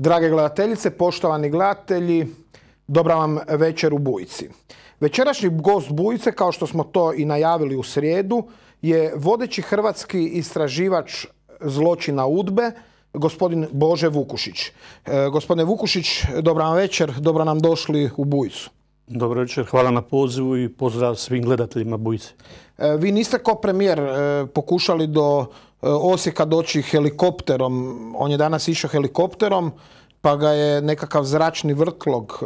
Drage gledateljice, poštovani gledatelji, dobra vam večer u Bujici. Večerašnji gost Bujice, kao što smo to i najavili u srijedu, je vodeći hrvatski istraživač zločina UDBE, gospodin Bože Vukušić. Gospodine Vukušić, dobra vam večer, dobro nam došli u Bujicu. Dobro večer, hvala na pozivu i pozdrav svim gledateljima Bujice. Vi niste kao premijer pokušali do Osijeka doći helikopterom. On je danas išao helikopterom, pa ga je nekakav zračni vrtlog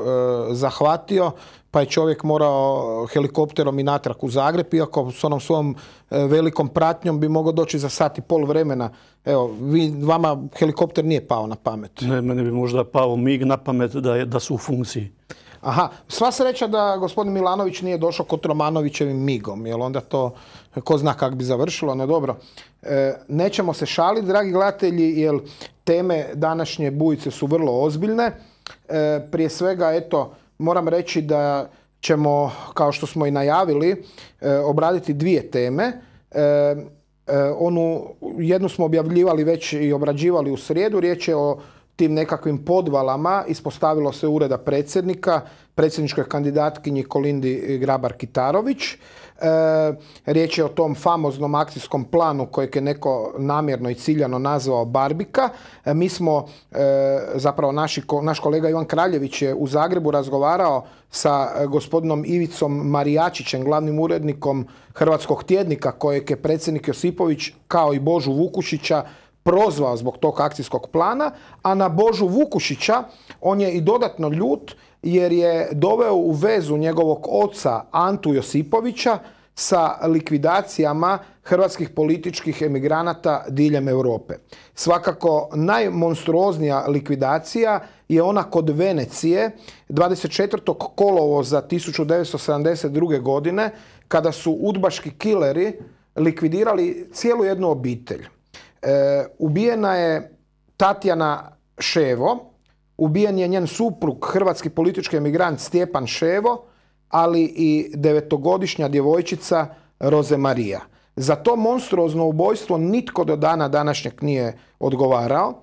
zahvatio, pa je čovjek morao helikopterom i natrag u Zagreb, iako s onom svojom velikom pratnjom bi mogao doći za sat i pol vremena. Evo, vama helikopter nije pao na pamet. Ne, meni bi možda pao MIG na pamet da su u funkciji. Aha, sva sreća da gospodin Milanović nije došao kod Romanovićevim migom, jer onda to ko zna kako bi završilo, no dobro. Nećemo se šaliti, dragi gledatelji, jer teme današnje Bujice su vrlo ozbiljne. Prije svega, eto, moram reći da ćemo, kao što smo i najavili, obraditi dvije teme. Jednu smo objavljivali već i obrađivali u srijedu, riječ je o tim nekakvim podvalama, ispostavilo se ureda predsjednika, predsjedničkoj kandidatkinji Kolindi Grabar-Kitarović. Riječ je o tom famoznom akcijskom planu kojeg je neko namjerno i ciljano nazvao Barbika. Mi smo, zapravo naš kolega Ivan Kraljević je u Zagrebu razgovarao sa gospodinom Ivicom Marijačićem, glavnim urednikom Hrvatskog tjednika, kojeg je predsjednik Josipović kao i Božu Vukušića prozvao zbog tog akcijskog plana, a na Božu Vukušića on je i dodatno ljut jer je doveo u vezu njegovog oca Antu Josipovića sa likvidacijama hrvatskih političkih emigranata diljem Europe. Svakako najmonstruoznija likvidacija je ona kod Venecije 24. kolovoza 1972. godine, kada su udbaški kileri likvidirali cijelu jednu obitelj. Ubijena je Tatjana Ševo, ubijen je njen suprug, hrvatski politički emigrant Stjepan Ševo, ali i 9-godišnja djevojčica Roze Marija. Za to monstruozno ubojstvo nitko do dana današnjeg nije odgovarao,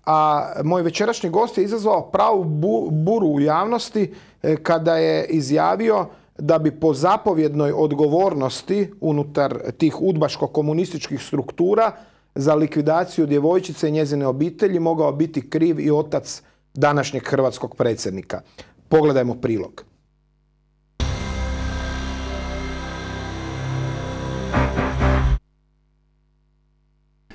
a moj večerašnji gost je izazvao pravu buru u javnosti kada je izjavio da bi po zapovjednoj odgovornosti unutar tih udbaško-komunističkih struktura za likvidaciju djevojčice i njezine obitelji mogao biti kriv i otac današnjeg hrvatskog predsjednika. Pogledajmo prilog.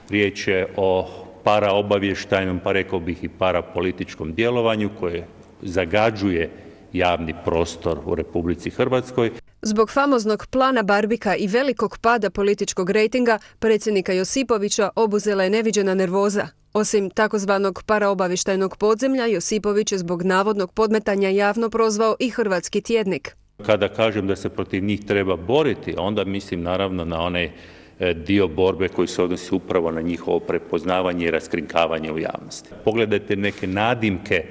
Riječ je o paraobavještajnom, pa rekao bih i parapolitičkom djelovanju koje zagađuje javni prostor u Republici Hrvatskoj. Zbog famoznog plana Barbika i velikog pada političkog rejtinga predsjednika Josipovića obuzela je neviđena nervoza. Osim takozvanog paraobavještajnog podzemlja, Josipović je zbog navodnog podmetanja javno prozvao i Hrvatski tjednik. Kada kažem da se protiv njih treba boriti, onda mislim naravno na onaj dio borbe koji se odnosi upravo na njihovo prepoznavanje i raskrinkavanje u javnosti. Pogledajte neke nadimke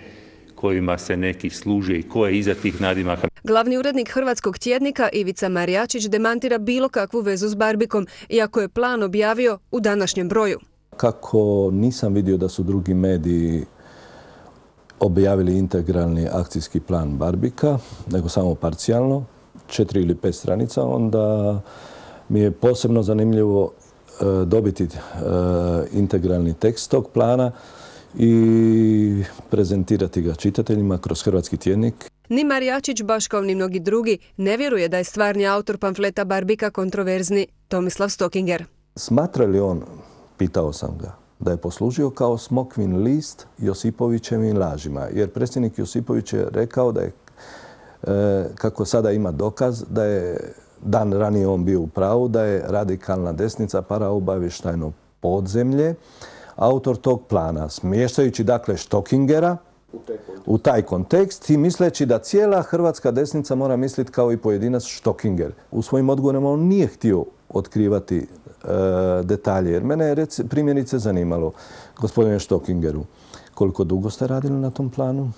kojima se neki služe i ko je iza tih nadimaka. Glavni urednik Hrvatskog tjednika Ivica Marijačić demantira bilo kakvu vezu s Barbikom, iako je plan objavio u današnjem broju. Kako nisam vidio da su drugi mediji objavili integralni akcijski plan Barbika, nego samo parcijalno, 4 ili 5 stranica, onda mi je posebno zanimljivo dobiti integralni tekst tog plana i prezentirati ga čitateljima kroz Hrvatski tjednik. Ni Marijačić, baš kao ni mnogi drugi, ne vjeruje da je stvarni autor pamfleta Barbika kontroverzni Tomislav Stokinger. Smatra li on, pitao sam ga, da je poslužio kao smokvin list Josipovićevim lažima? Jer predsjednik Josipović je rekao da je, kako sada ima dokaz, da je dan ranije on bio u pravu, da je radikalna desnica paraobavještajno podzemlje autor tog plana, smještajući dakle Stokingera u taj kontekst i misleći da cijela hrvatska desnica mora misliti kao i pojedinac Stokinger. U svojim odgovorima on nije htio otkrivati detalje, jer mene je primjerice zanimalo, gospodine Stokingeru, koliko dugo ste radili na tom planu?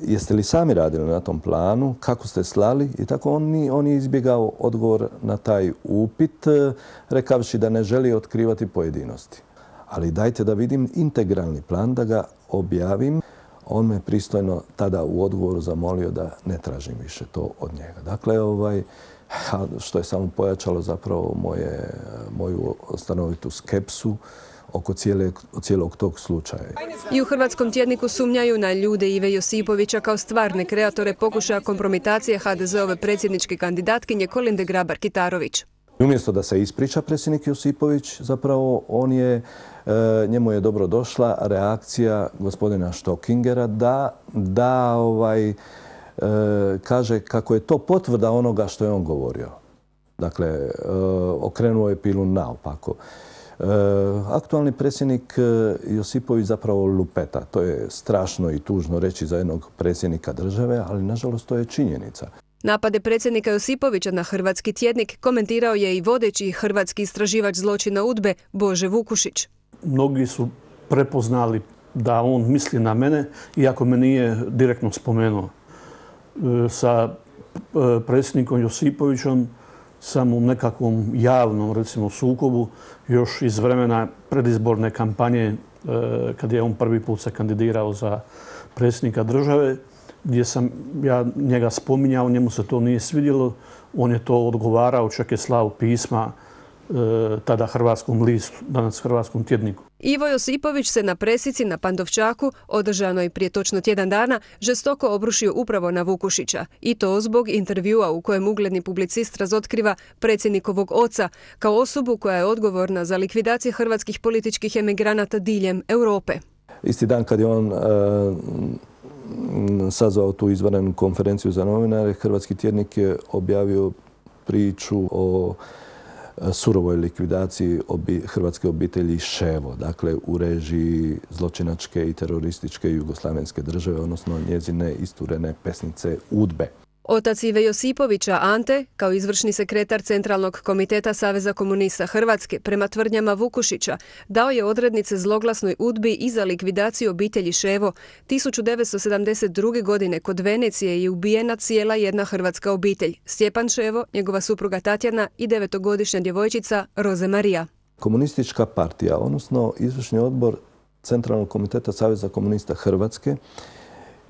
Jeste li sami radili na tom planu? Kako ste slali? I tako on je izbjegao odgovor na taj upit, rekavši da ne želi otkrivati pojedinosti. ali dajte da vidim integralni plan, da ga objavim. On me pristojno tada u odgovoru zamolio da ne tražim više to od njega. Dakle, što je samo pojačalo zapravo moju stanovitu skepsu oko cijelog tog slučaja. I u Hrvatskom tjedniku sumnjaju na ljude Ive Josipovića kao stvarne kreatore pokušaja kompromitacije HDZ-ove predsjedničke kandidatkinje Kolinde Grabar-Kitarović. Umjesto da se ispriča predsjednik Josipović, zapravo njemu je dobro došla reakcija gospodina Štokingera da kaže kako je to potvrda onoga što je on govorio. Dakle, okrenuo je pilu naopako. Aktualni predsjednik Josipović zapravo lupeta. To je strašno i tužno reći za jednog predsjednika države, ali nažalost to je činjenica. Napade predsjednika Josipovića na Hrvatski tjednik komentirao je i vodeći hrvatski istraživač zločina UDBE Bože Vukušić. Mnogi su prepoznali da on misli na mene, iako me nije direktno spomenuo. Sa predsjednikom Josipovićem sam u nekakvom javnom, recimo, sukobu još iz vremena predizborne kampanje, kad je on prvi put se kandidirao za predsjednika države, gdje sam ja njega spominjao, njemu se to nije svidjelo, on je to odgovarao, čak je slao pisma tada Hrvatskom listu, danas Hrvatskom tjedniku. Ivo Josipović se na presici na Pandovčaku, održanoj prije točno tjedan dana, žestoko obrušio upravo na Vukušića. I to zbog intervjua u kojem ugledni publicist razotkriva predsjednikovog oca kao osobu koja je odgovorna za likvidacije hrvatskih političkih emigranata diljem Europe. Isti dan kad je on sazvao tu izvanrednu konferenciju za novinare, Hrvatski tjednik je objavio priču o surovoj likvidaciji hrvatske obitelji Ševo, dakle u režiji zločinačke i terorističke jugoslavenske države, odnosno njezine isturene pesnice UDBE. Otac Ive Josipovića, Ante, kao izvršni sekretar Centralnog komiteta Saveza komunista Hrvatske, prema tvrdnjama Vukušića, dao je odrednice zloglasnoj UDBI i za likvidaciju obitelji Ševo. 1972. godine kod Venecije je ubijena cijela jedna hrvatska obitelj. Stjepan Ševo, njegova supruga Tatjana i 9-godišnja djevojčica Roze Marija. Komunistička partija, odnosno izvršni odbor Centralnog komiteta Saveza komunista Hrvatske,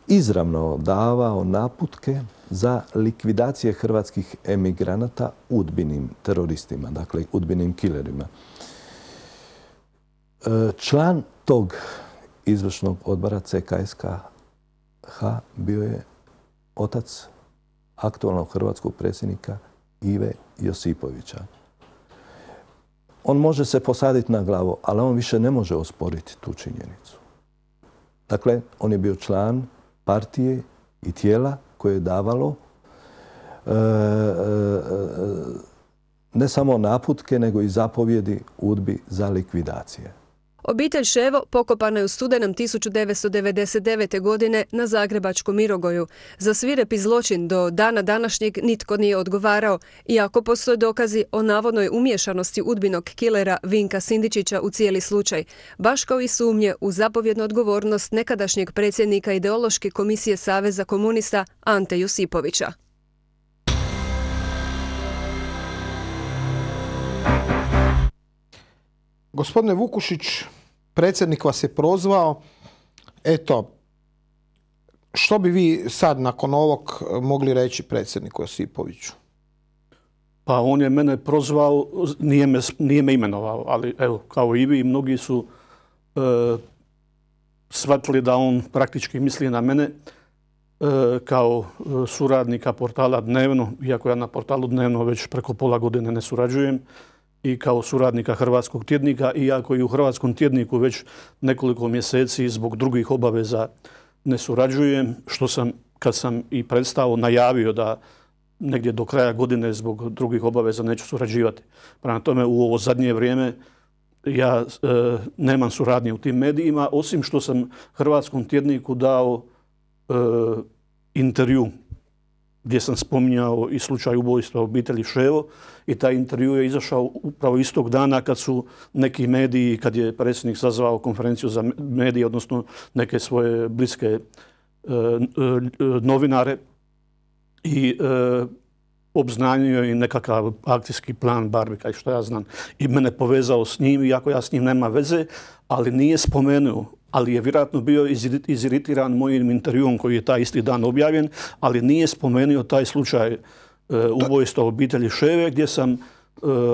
izravno davao naputke za likvidacije hrvatskih emigranata udbinim teroristima, dakle udbinim killerima. Član tog izvršnog odbora CKSKH bio je otac aktualnog hrvatskog predsjednika Ive Josipovića. On može se posaditi na glavu, ali on više ne može osporiti tu činjenicu. Dakle, on je bio član partije i tijela koje je davalo ne samo naputke, nego i zapovjedi UDBI za likvidacije. Obitelj Ševo pokopana je u studenom 1999. godine na zagrebačkom Mirogoju. Za svirepi zločin do dana današnjeg nitko nije odgovarao, iako postoje dokazi o navodnoj umiješanosti udbinog kilera Vinka Sindičića u cijeli slučaj, baš kao i sumnje u zapovjednu odgovornost nekadašnjeg predsjednika ideološke komisije Saveza komunista Ante Josipovića. Gospodine Vukušić, predsjednik vas je prozvao. Eto, što bi vi sad nakon ovog mogli reći predsjedniku Josipoviću? Pa on je mene prozvao, nije me imenovao, ali evo, kao i vi, mnogi su shvatili da on praktički misli na mene kao suradnika portala Dnevno, iako ja na portalu Dnevno već preko pola godine ne surađujem, i kao suradnika Hrvatskog tjednika, iako i u Hrvatskom tjedniku već nekoliko mjeseci zbog drugih obaveza ne surađujem, što sam, kad sam i predstavio, najavio da negdje do kraja godine zbog drugih obaveza neću surađivati. Prema tome, u ovo zadnje vrijeme ja nemam suradnje u tim medijima, osim što sam Hrvatskom tjedniku dao intervju gdje sam spominjao i slučaj ubojstva obitelji Ševo, i taj intervju je izašao upravo istog dana kad su neki mediji, kad je predsjednik sazvao konferenciju za medije, odnosno neke svoje bliske novinare, i obznanio i nekakav akcijski plan Barbika i što ja znam. I mene povezao s njim, iako ja s njim nema veze, ali nije spomenuo. Ali je vjerojatno bio iziritiran mojim intervjuom koji je taj isti dan objavljen, ali nije spomenuo taj slučaj ubojstva obitelji Ševe, gdje sam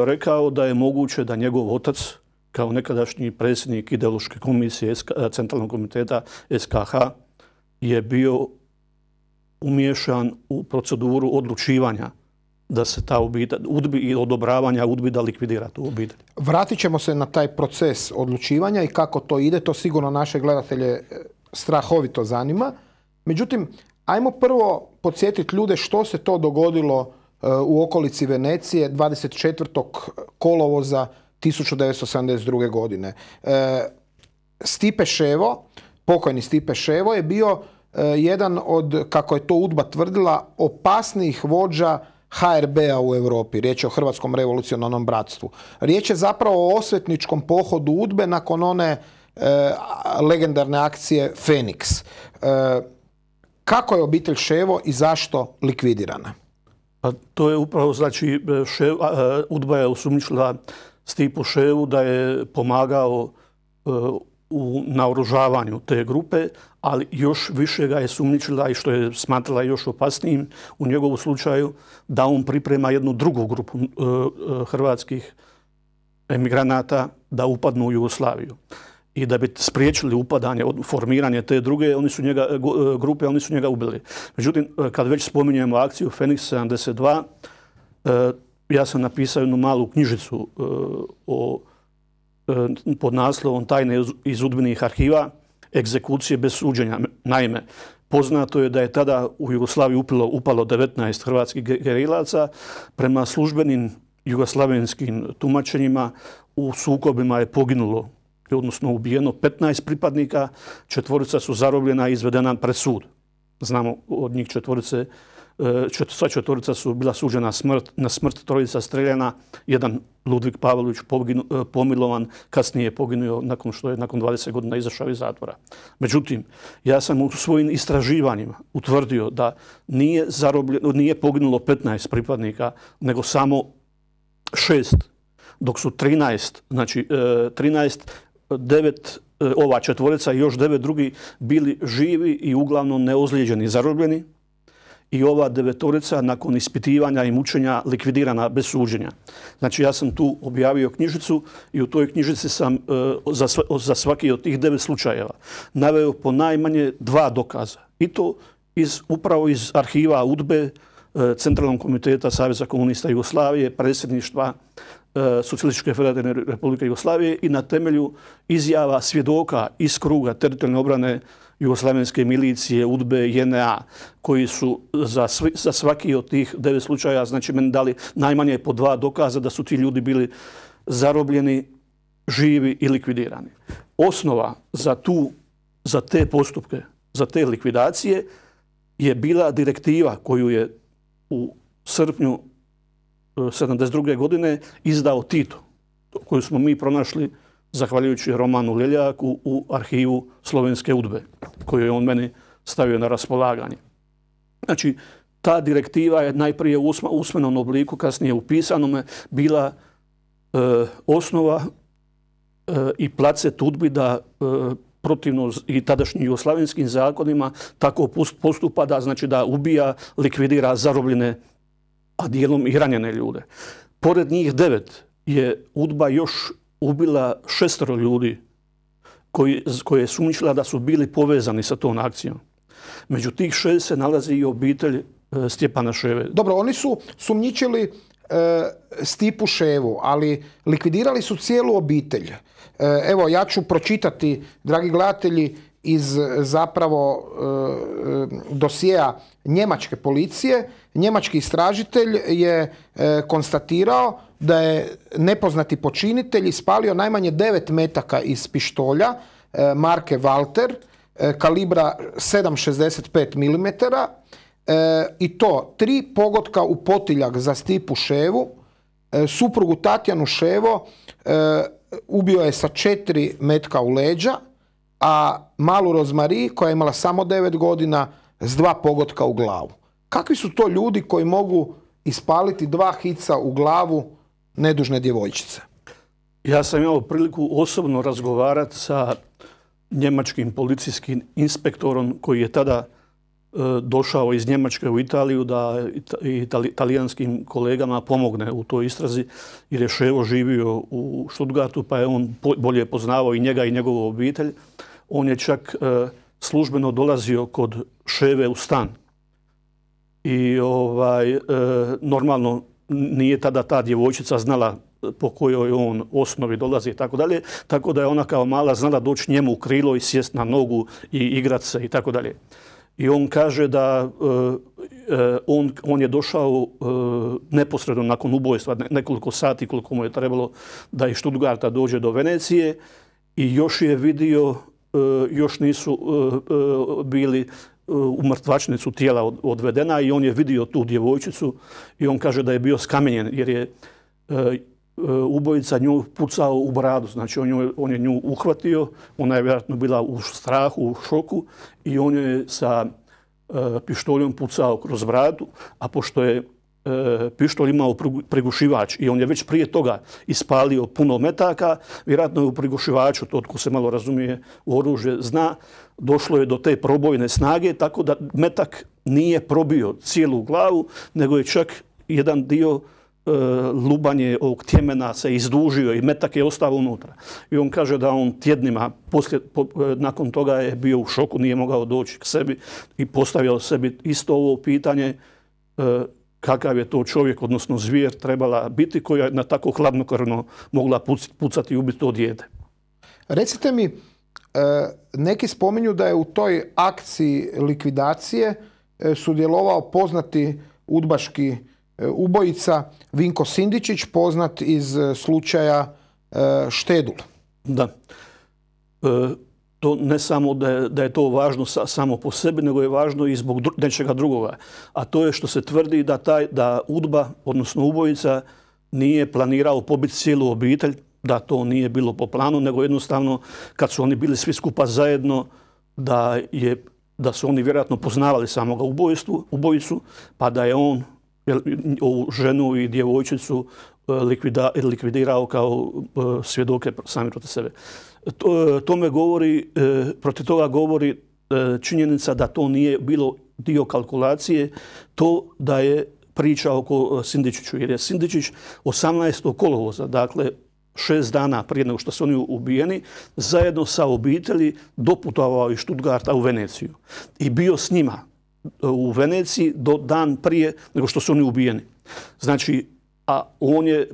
rekao da je moguće da njegov otac, kao nekadašnji predsjednik ideološke komisije Centralnog komiteta SKH, je bio umiješan u proceduru odlučivanja da se ta obitelj UDBA i odobravanja UDBA da likvidira tu obitelj. Vratit ćemo se na taj proces odlučivanja i kako to ide. To sigurno naše gledatelje strahovito zanima. Međutim, ajmo prvo podsjetiti ljude što se to dogodilo u okolici Venecije 24. kolovoza 1972. godine. Stipe Ševo, pokojni Stipe Ševo, je bio jedan od, kako je to UDBA tvrdila, opasnijih vođa HRB-a u Europi. Riječ je o Hrvatskom revolucionarnom bratstvu. Riječ je zapravo o osvetničkom pohodu UDBE nakon one legendarne akcije Feniks. Kako je obitelj Ševo i zašto likvidirana? Pa to je upravo, znači, UDBA je osumnjičila Stipu Ševu da je pomagao u naoružavanju te grupe, ali još više ga je sumnjičila i što je smatrala još opasnijim u njegovu slučaju, da on priprema jednu drugu grupu hrvatskih emigranata da upadnu u Jugoslaviju. I da bi spriječili upadanje, formiranje te druge grupe, oni su njega ubili. Međutim, kad već spominjemo akciju Feniks 72, ja sam napisao jednu malu knjižicu pod naslovom Tajne iz UDBA-inih arhiva, egzekucije bez suđenja. Naime, poznato je da je tada u Jugoslaviju upalo 19 hrvatskih gerilaca. Prema službenim jugoslavenskim tumačenjima u sukobima je poginulo, odnosno ubijeno 15 pripadnika, 4 su zarobljena i izvedena pred sud. Znamo od njih 4, sva 4 su bila suđena na smrt, 3 streljana, jedan Ludvig Pavlović pomilovan, kasnije je poginuo nakon što je nakon 20 godina izašao iz zatvora. Međutim, ja sam u svojim istraživanjima utvrdio da nije poginulo 15 pripadnika, nego samo 6, dok su 13, znači 9, ova 4 i još 9 drugi bili živi i uglavnom neozlijeđeni, zarobljeni. I ova 9 nakon ispitivanja i mučenja likvidirana bez suđenja. Znači, ja sam tu objavio knjižicu i u toj knjižici sam za svaki od tih 9 slučajeva naveo po najmanje 2 dokaza. I to upravo iz arhiva UDBE, Centralnog komiteta Saveza komunista Jugoslavije, predsjedništva Socijalističke federativne republike Jugoslavije i na temelju izjava svjedoka iz kruga teritorijalne obrane jugoslavenske milicije, UDBE, JNA, koji su za svaki od tih 9 slučaja, znači meni dali najmanje po 2 dokaza da su ti ljudi bili zarobljeni, živi i likvidirani. Osnova za te postupke, za te likvidacije je bila direktiva koju je u srpnju 1972. godine izdao Tito, koju smo mi pronašli zahvaljujući Romanu Ljeljaku u arhivu slovenske UDBE, koju je on meni stavio na raspolaganje. Znači, ta direktiva je najprije u usmenom obliku, kasnije u pisanome, bila osnova i placet UDBI da protivno i tadašnjim jugoslavenskim zakonima tako postupa da, znači, da ubija, likvidira zarobljene, a dijelom i ranjene ljude. Pored njih 9 je UDBA još ubila 6 ljudi koje je sumnjičila da su bili povezani sa tom akcijom. Među tih 6 se nalazi i obitelj Stjepana Ševe. Dobro, oni su sumnjičili Stipu Ševu, ali likvidirali su cijelu obitelj. Evo, ja ću pročitati, dragi gledatelji, iz zapravo dosjea njemačke policije. Njemački istražitelj je konstatirao da je nepoznati počinitelj ispalio najmanje 9 metaka iz pištolja marke Walter kalibra 7,65 mm i to 3 pogotka u potiljak za Stipu Ševu, suprugu Tatjanu Ševo ubio je sa 4 metka u leđa, a malu Rozmari, koja je imala samo 9 godina, s 2 pogotka u glavu. Kakvi su to ljudi koji mogu ispaliti 2 hica u glavu nedužne djevojčice? Ja sam imao priliku osobno razgovarati sa njemačkim policijskim inspektorom koji je tada došao iz Njemačke u Italiju da italijanskim kolegama pomogne u toj istrazi, jer je Ševo živio u Stuttgartu, pa je on bolje poznavao i njega i njegovu obitelj. On je čak službeno dolazio kod Ševe u stan. I normalno nije tada ta djevojčica znala po kojoj on osnovi dolazi i tako dalje, tako da je ona kao mala znala doći njemu u krilo i sjest na nogu i igrat se i tako dalje. I on kaže da on je došao neposredno nakon ubojstva, nekoliko sati koliko mu je trebalo da iz Stuttgarta dođe do Venecije, i još je vidio, još nisu bili u mrtvačnicu tijela odvedena, i on je vidio tu djevojčicu i on kaže da je bio skamenjen jer je ubojica nju pucao u bradu. Znači on je nju uhvatio, ona je vjerojatno bila u strahu, u šoku, i on je sa pištoljom pucao kroz bradu, a pošto je pištolj imao prigušivač i on je već prije toga ispalio puno metaka, vjerojatno je u prigušivaču, to tko se malo razumije u oružje zna, došlo je do te probojne snage, tako da metak nije probio cijelu glavu, nego je čak jedan dio lubanje ovog tjemena se izdužio i metak je ostao unutra. I on kaže da on tjednima nakon toga je bio u šoku, nije mogao doći k sebi i postavio sebi isto ovo pitanje kakav je to čovjek, odnosno zvijer, trebala biti koja je na tako hladnokrvno mogla pucati i ubiti to dijete. Recite mi, neki spominju da je u toj akciji likvidacije sudjelovao poznati udbaški ubojica Vinko Sindičić, poznat iz slučaja Štedul. Da. To ne samo da je to važno samo po sebi, nego je važno i zbog nečega drugoga. A to je što se tvrdi da udba, odnosno ubojica, nije planirao pobiti cijelu obitelj, da to nije bilo po planu, nego jednostavno kad su oni bili svi skupa zajedno, da su oni vjerojatno poznavali samoga ubojicu, pa da je on ovu ženu i djevojčicu likvidirao kao svjedoke sami protiv sebe. Protiv toga govori činjenica da to nije bilo dio kalkulacije, to da je priča oko Sindičiću, jer je Sindičić 18. kolovoza, dakle 6 dana prije nego što su oni ubijeni, zajedno sa obitelji doputovao iz Stuttgarta u Veneciju i bio s njima u Veneciji do dan prije nego što su oni ubijeni. Znači, a on je,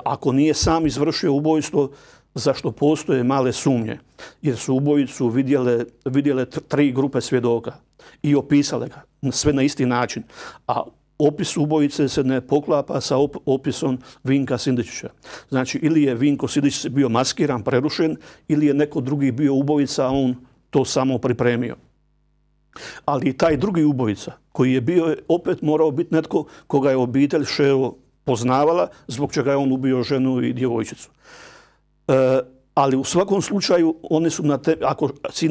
ako nije sam izvršio ubojstvo, zašto postoje male sumnje, jer su ubojicu vidjele 3 grupe svjedoka i opisale ga, sve na isti način. A opis ubojice se ne poklapa sa opisom Vinka Sindičića. Znači, ili je Vinko Sindičić bio maskiran, prerušen, ili je neko drugi bio ubojica, a on to samo pripremio. Ali i taj drugi ubojica, koji je bio, opet morao biti netko koga je obitelj Ševo poznavala, zbog čega je on ubio ženu i djevojčicu. Ali u svakom slučaju oni su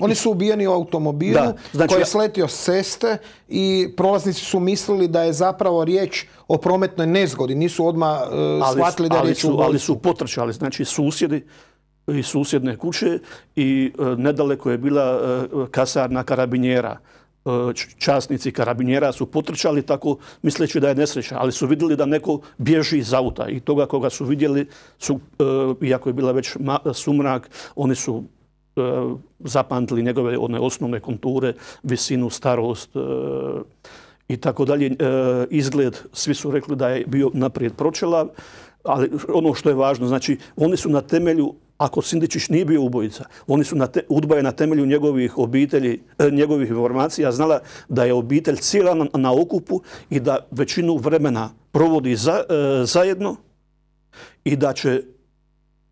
oni su ubijeni u automobilu koji je sletio s ceste i prolaznici su mislili da je zapravo riječ o prometnoj nezgodi. Nisu odmah shvatili da je riječ o ubojstvu. Ali su potrčali, znači susjedi i susjedne kuće, i nedaleko je bila kasarna karabinjera. Časnici karabinjera su potrčali tako misleći da je nesreća, ali su vidjeli da neko bježi iz auta, i toga koga su vidjeli, iako je bila već sumrak, oni su zapamtili njegove one osnovne konture, visinu, starost i tako dalje. Izgled, svi su rekli da je bio naprijed pročelav, ali ono što je važno, znači oni su na temelju, ako Sindičić nije bio ubojica, udba je na temelju njegovih obitelji, njegovih informacija znala da je obitelj cijela na okupu i da većinu vremena provodi zajedno, i da će,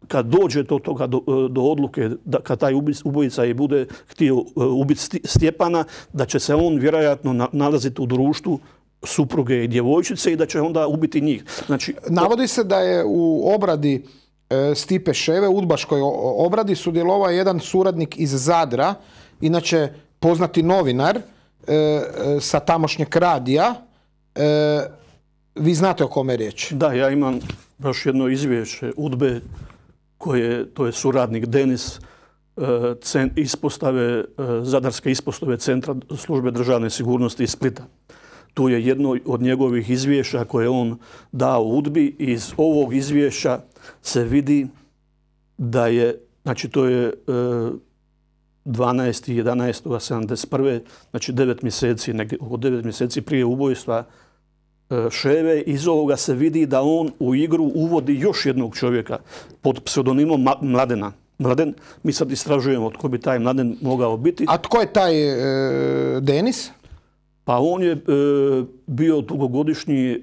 kad dođe do toga, do odluke, kad taj ubojica i bude htio ubiti Stjepana, da će se on vjerojatno nalaziti u društvu supruge i djevojčice i da će onda ubiti njih. Znači, navodi se da je u obradi Stipe Ševe, udbaškoj obradi, sudjelovao jedan suradnik iz Zadra, inače poznati novinar sa tamošnjeg radija, Vi znate o kome je riječ? Da, ja imam baš jedno izvješće UDBE, to je suradnik Denis, Zadarske ispostave Centra službe državne sigurnosti iz Splita. Tu je jedno od njegovih izvješća koje on dao UDBI. Iz ovog izvješća se vidi da je, znači to je 12.11.71. znači 9 mjeseci, oko 9 mjeseci prije ubojstva Ševe. Iz ovoga se vidi da on u igru uvodi još jednog čovjeka pod pseudonimom Mladena. Mladen, mi sad istražujemo tko bi taj Mladen mogao biti. A tko je taj Denis? Pa on je bio dugogodišnji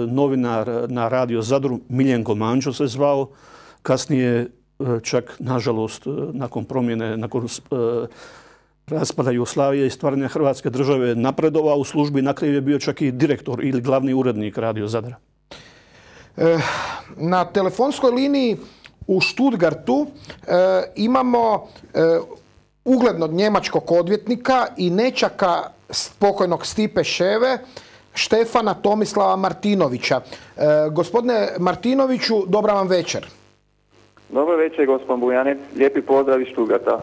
novinar na Radio Zadru, Miljenko Mančo se zvao, kasnije čak, nažalost, nakon promjene, nakon raspada Jugoslavije i stvaranja Hrvatske države napredovao u službi, na kraju je bio čak i direktor ili glavni urednik Radio Zadra. Na telefonskoj liniji u Stuttgartu imamo uglednog njemačkog odvjetnika i nećaka pokojnog Stipe Ševe, Štefana Tomislava Martinovića. Gospodine Martinoviću, dobra vam večer. Dobro večer, gospodin Bujanec. Lijepi pozdrav iz Stuttgarta.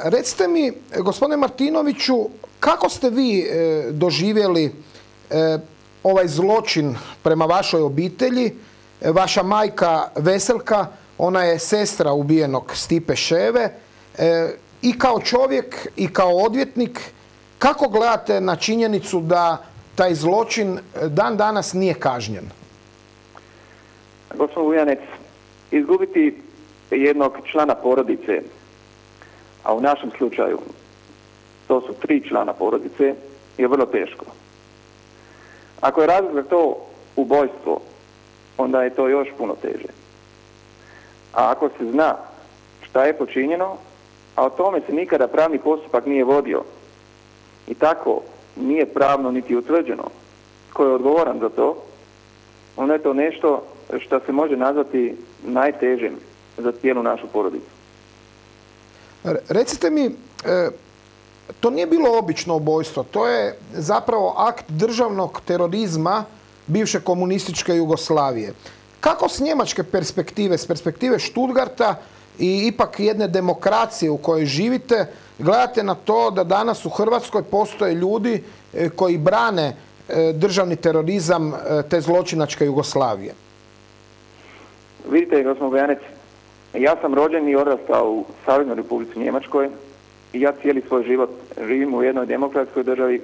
Recite mi, gospodine Martinoviću, kako ste vi doživjeli ovaj zločin prema vašoj obitelji? Vaša majka Veselka, ona je sestra ubijenog Stipe Ševe. I kao čovjek i kao odvjetnik, kako gledate na činjenicu da taj zločin dan danas nije kažnjen? Gospodin Vujanec, izgubiti jednog člana porodice, a u našem slučaju to su 3 člana porodice, je vrlo teško. Ako je razlog za to ubojstvo, onda je to još puno teže. A ako se zna šta je počinjeno, a o tome se nikada pravni postupak nije vodio i tako nije pravno niti utvrđeno tko je odgovoran za to, onda je to nešto što se može nazvati najtežim za cijelu našu porodicu. Recite mi, to nije bilo obično ubojstvo, to je zapravo akt državnog terorizma bivše komunističke Jugoslavije. Kako s njemačke perspektive, s perspektive Stuttgarta i ipak jedne demokracije u kojoj živite, gledate na to da danas u Hrvatskoj postoje ljudi koji brane državni terorizam te zločinačke Jugoslavije? Vidite, gospodin Bojanec, ja sam rođen i odrastao u Saveznoj Republici Njemačkoj i ja cijeli svoj život živim u jednoj demokratskoj državi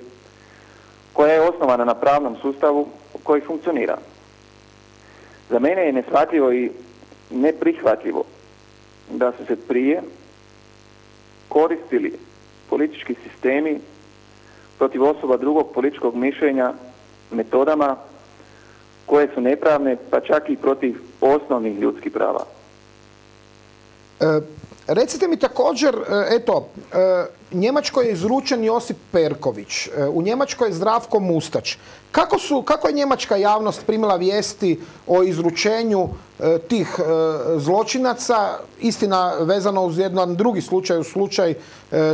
koja je osnovana na pravnom sustavu koji funkcionira. Za mene je neshvatljivo i neprihvatljivo da su se prije koristili politički sistemi protiv osoba drugog političkog mišljenja metodama koje su nepravne, pa čak i protiv osnovnih ljudskih prava. Recite mi također, eto, Njemačkoj je izručen Josip Perković, u Njemačkoj je Zdravko Mustač. Kako je njemačka javnost primila vijesti o izručenju tih zločinaca, istina vezano uz jedan drugi slučaj, slučaj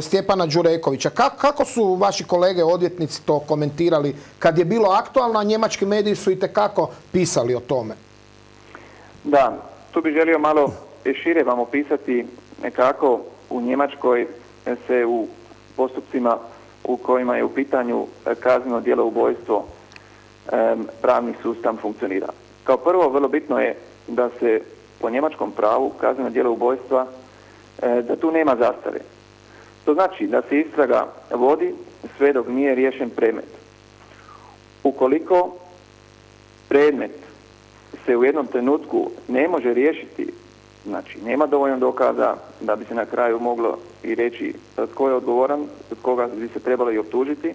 Stjepana Đurekovića? Kako su vaši kolege odvjetnici to komentirali kad je bilo aktualno, a njemački mediji su itekako pisali o tome? Da, tu bih želio malo šire vam opisati nekako u Njemačkoj se u postupcima u kojima je u pitanju kazneno djelo ubojstvo pravni sustav funkcionira. Kao prvo, vrlo bitno je da se po njemačkom pravu kazneno djelo ubojstva da tu nema zastare. To znači da se istraga vodi sve dok nije riješen predmet. Ukoliko predmet se u jednom trenutku ne može riješiti, znači nema dovoljno dokaza da bi se na kraju moglo i reći tko je odgovoran, koga bi se trebalo i optužiti,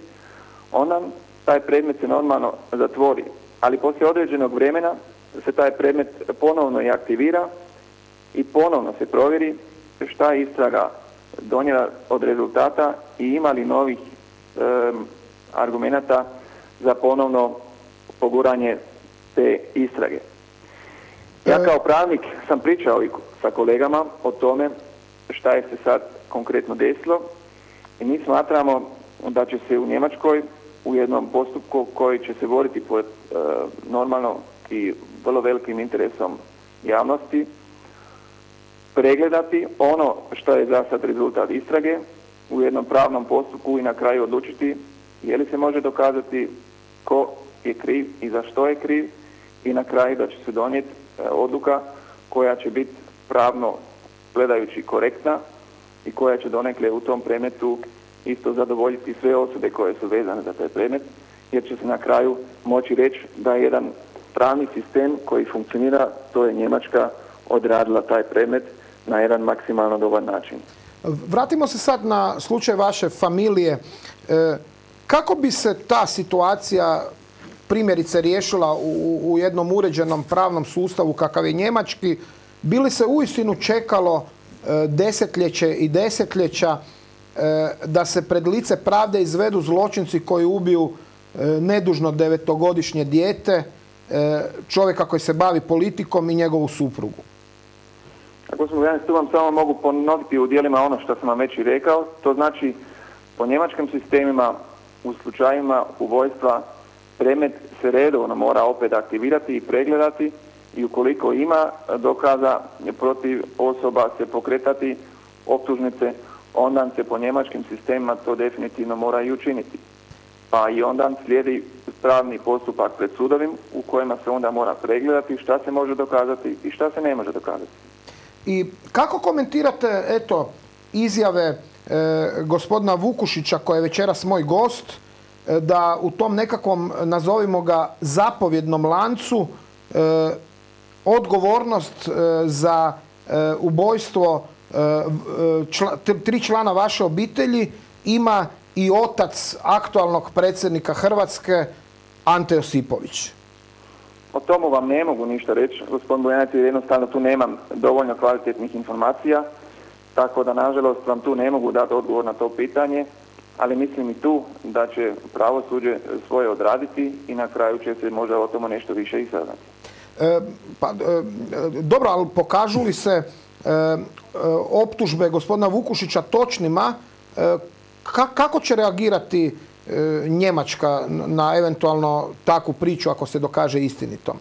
onda taj predmet se normalno zatvori. Ali poslije određenog vremena se taj predmet ponovno i aktivira i ponovno se provjeri šta je istraga donijela od rezultata i ima li novih argumenata za ponovno poguranje te istrage. Ja kao pravnik sam pričao i sa kolegama o tome šta je se sad konkretno desilo i mi smatramo da će se u Njemačkoj u jednom postupku koji će se voditi pod normalno i vrlo velikim interesom javnosti, pregledati ono što je za sad rezultat istrage u jednom pravnom postupku i na kraju odlučiti je li se može dokazati ko je kriv i za što je kriv i na kraju da će se donijeti odluka koja će biti pravno gledajući korektna i koja će donekle u tom predmetu isto zadovoljiti sve osude koje su vezane za taj predmet, jer će se na kraju moći reći da je jedan pravni sistem koji funkcionira, to je Njemačka, odradila taj predmet na jedan maksimalno dobar način. Vratimo se sad na slučaj vaše familije. Kako bi se ta situacija primjerice riješila u jednom uređenom pravnom sustavu kakav je njemački? Bi li se uistinu čekalo desetljeće i desetljeća da se pred lice pravde izvedu zločinci koji ubiju nedužno 9-godišnje dijete, čovjeka koji se bavi politikom i njegovu suprugu? Gospodin Vuljanić, tu vam samo mogu ponoviti u dijelima ono što sam vam već i rekao. To znači, po njemačkim sistemima u slučajima ubojstva predmet se redovno mora opet aktivirati i pregledati i ukoliko ima dokaza protiv osoba se pokretati optužnice, onda se po njemačkim sistemima to definitivno mora i učiniti. Pa i onda slijedi pravni postupak pred sudovim u kojima se onda mora pregledati šta se može dokazati i šta se ne može dokazati. I kako komentirate, eto, izjave gospodina Vukušića, koji je večeras moj gost, da u tom nekakvom, nazovimo ga, zapovjednom lancu odgovornost za ubojstvo 3 člana vaše obitelji ima i otac aktualnog predsjednika Hrvatske, Ante Josipović? O tomu vam ne mogu ništa reći, gospodin Vuljanić, jer jednostavno tu nemam dovoljno kvalitetnih informacija, tako da nažalost vam tu ne mogu dati odgovor na to pitanje, ali mislim i tu da će pravosuđe svoje odraditi i na kraju će se možda o tome nešto više i saznati. Dobro, ali pokažu li se optužbe gospodina Vukušića točnima, kako će reagirati Njemačka na eventualno takvu priču ako se dokaže istinitom?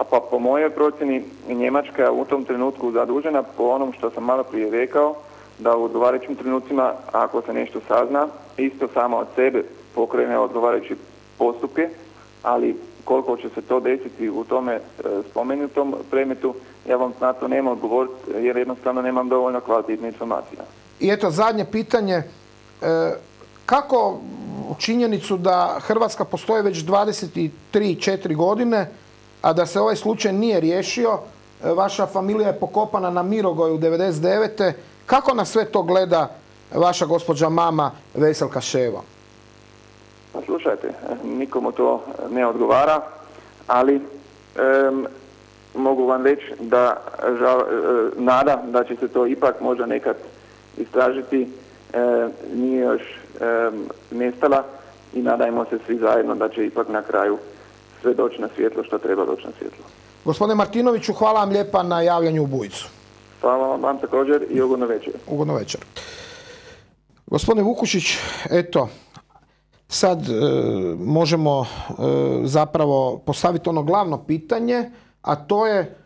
Pa po mojoj procjeni Njemačka je u tom trenutku zadužena po onom što sam malo prije rekao, da u odgovarajućim trenucima ako se nešto sazna, isto samo od sebe pokrene odgovarajuće postupke, ali koliko će se to desiti u tome spomenutom predmetu, ja vam na to nemam odgovoriti jer jednostavno nemam dovoljno kvalitetne informacije. I eto, zadnje pitanje. Kako činjenicu da Hrvatska postoji već 23-4 godine, a da se ovaj slučaj nije riješio, vaša familija je pokopana na Mirogoju 99. Kako na sve to gleda vaša gospođa mama Veselka Ševo? Pa slušajte, nikomu to ne odgovara, ali mogu vam reći da nada da će se to ipak možda nekad istražiti nije još nestala i nadajmo se svi zajedno da će ipak na kraju sve doći na svjetlo što treba doći na svjetlo. Gospodine Martinoviću, hvala vam lijepa na javljanju u Bujicu. Hvala vam također i ugodno večer. Ugodno večer. Gospodine Vukušić, eto, sad možemo zapravo postaviti ono glavno pitanje, a to je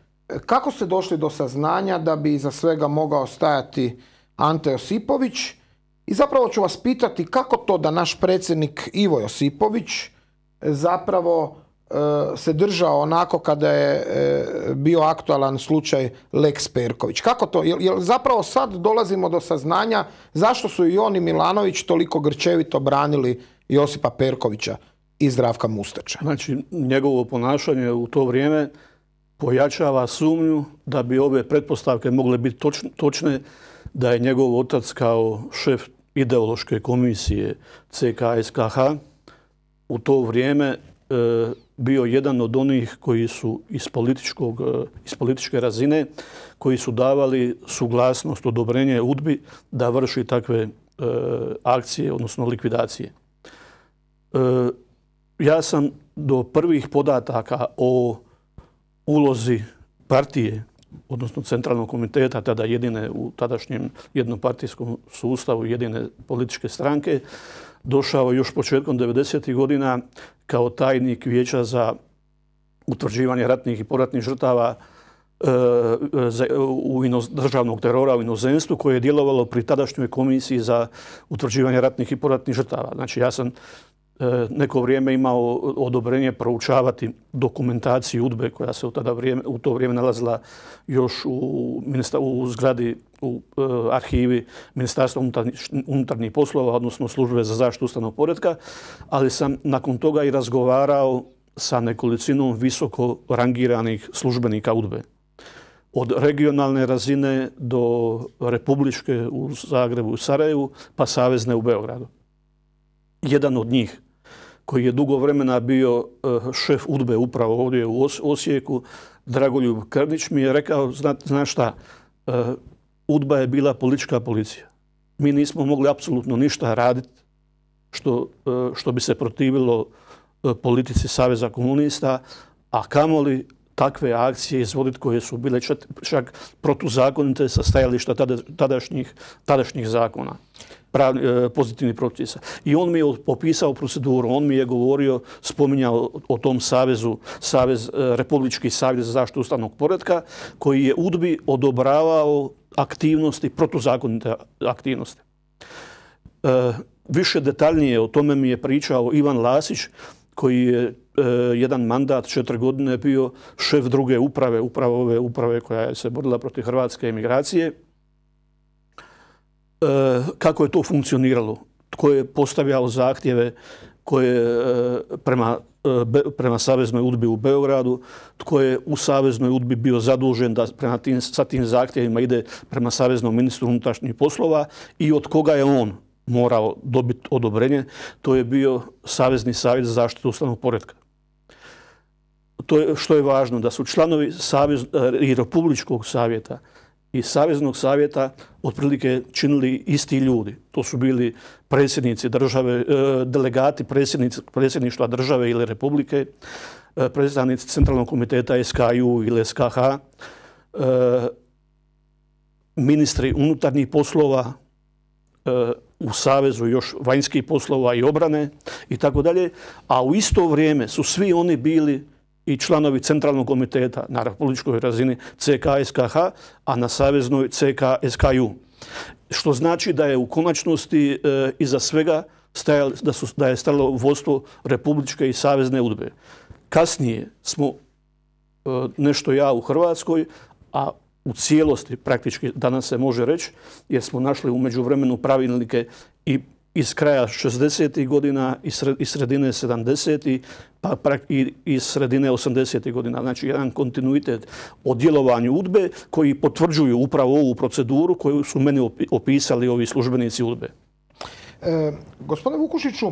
kako ste došli do saznanja da bi iza svega mogao stajati Ante Josipović i zapravo ću vas pitati kako to da naš predsjednik Ivo Josipović zapravo se držao onako kada je bio aktualan slučaj Lex Perković. Kako to? Jer zapravo sad dolazimo do saznanja zašto su i on i Milanović toliko grčevito branili Josipa Perkovića i Zdravka Mustača. Znači, njegovo ponašanje u to vrijeme pojačava sumnju da bi ove pretpostavke mogle biti točne, da je njegov otac kao šef ideološke komisije CKSKH u to vrijeme bio jedan od onih koji su iz političke razine, koji su davali suglasnost, odobrenje UDBI da vrši takve akcije, odnosno likvidacije. Ja sam do prvih podataka o ulozi partije, odnosno centralnog komiteta, tada jedine u tadašnjem jednopartijskom sustavu, jedine političke stranke, došao još početkom 90. godina kao tajnik Vijeća za utvrđivanje ratnih i poratnih žrtava državnog terora u inozemstvu koje je djelovalo pri tadašnjoj komisiji za utvrđivanje ratnih i poratnih žrtava. Znači ja sam neko vrijeme imao odobrenje proučavati dokumentaciju UDBE koja se u to vrijeme nalazila još u zgradi u arhivi Ministarstva unutarnjih poslova, odnosno Službe za zaštitu ustavnog poretka, ali sam nakon toga i razgovarao sa nekolicinom visoko rangiranih službenika UDBE. Od regionalne razine do republičke u Zagrebu i Sarajevu, pa savezne u Beogradu. Jedan od njih, koji je dugo vremena bio šef UDBE upravo ovdje u Osijeku, Dragoljub Krnić, mi je rekao, znaš šta, UDBA je bila politička policija. Mi nismo mogli apsolutno ništa raditi što bi se protivilo politici Saveza komunista, a kamoli takve akcije izvoditi koje su bile čak protuzakonite sa stajališta tadašnjih zakona, pozitivnih propisa. I on mi je opisao proceduru, on mi je govorio, spominjao o tom savezu, Republički savez za zaštitu ustavnog poretka, koji je UDBI odobravao aktivnosti, protuzakonite aktivnosti. Više detaljnije o tome mi je pričao Ivan Lasić, koji je jedan mandat 4 godine bio šef druge uprave, upravo ove uprave koja se borila protiv hrvatske emigracije. Kako je to funkcioniralo? Tko je postavljao zahtjeve prema Saveznoj UDBI u Beogradu? Tko je u Saveznoj UDBI bio zadužen da sa tim zahtjevima ide prema Saveznom ministru unutrašnjih poslova i od koga je on morao dobiti odobrenje? To je bio Savezni savjet za zaštitu ustavnog poretka. Što je važno, da su članovi i Republičkog savjeta i Saveznog savjeta otprilike činili isti ljudi. To su bili predsjednici države, delegati predsjedništva države ili republike, predstavnici Centralnog komiteta SKU ili SKH, ministri unutarnjih poslova, u Savezu još vanjskih poslova i obrane i tako dalje, a u isto vrijeme su svi oni bili i članovi Centralnog komiteta na republičkoj razini CK SKH, a na saveznoj CK SKU. Što znači da je u konačnosti iza svega da je stajalo vodstvo Republičke i Savezne UDBE. Kasnije smo nešto u Hrvatskoj, a u cijelosti praktički danas se može reći, jer smo našli u međuvremenu pravilnike i iz kraja 60. godina i sredine 70. pa i iz sredine 80. godina. Znači jedan kontinuitet o djelovanju UDBE koji potvrđuju upravo ovu proceduru koju su meni opisali ovi službenici UDBE. Gospodine Vukušiću,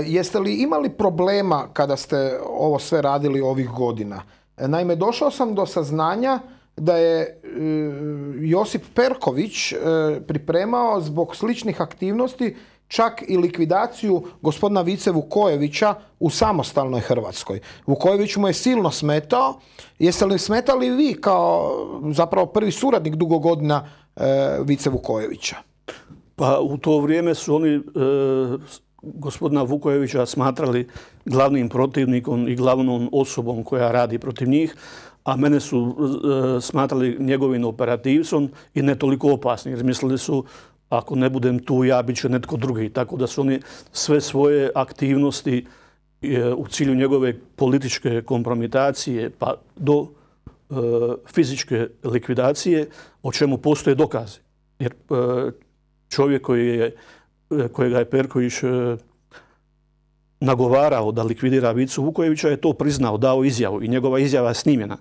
jeste li imali problema kada ste ovo sve radili ovih godina? Naime, došao sam do saznanja da je Josip Perković pripremao zbog sličnih aktivnosti čak i likvidaciju gospodina Vice Vukojevića u samostalnoj Hrvatskoj. Vukojević mu je silno smetao. Jeste li smetali vi kao zapravo prvi suradnik dugo godina Vice Vukojevića? Pa u to vrijeme su oni gospodina Vukojevića smatrali glavnim protivnikom i glavnom osobom koja radi protiv njih, a mene su smatrali njegovim operativcom i ne toliko opasnim, jer mislili su ako ne budem tu ja, bit će netko drugi. Tako da su oni sve svoje aktivnosti u cilju njegove političke kompromitacije pa do fizičke likvidacije, o čemu postoje dokazi. Jer čovjek kojega je Perković nagovarao da likvidira Vicu Vukojevića je to priznao, dao izjavu i njegova izjava je snimljena.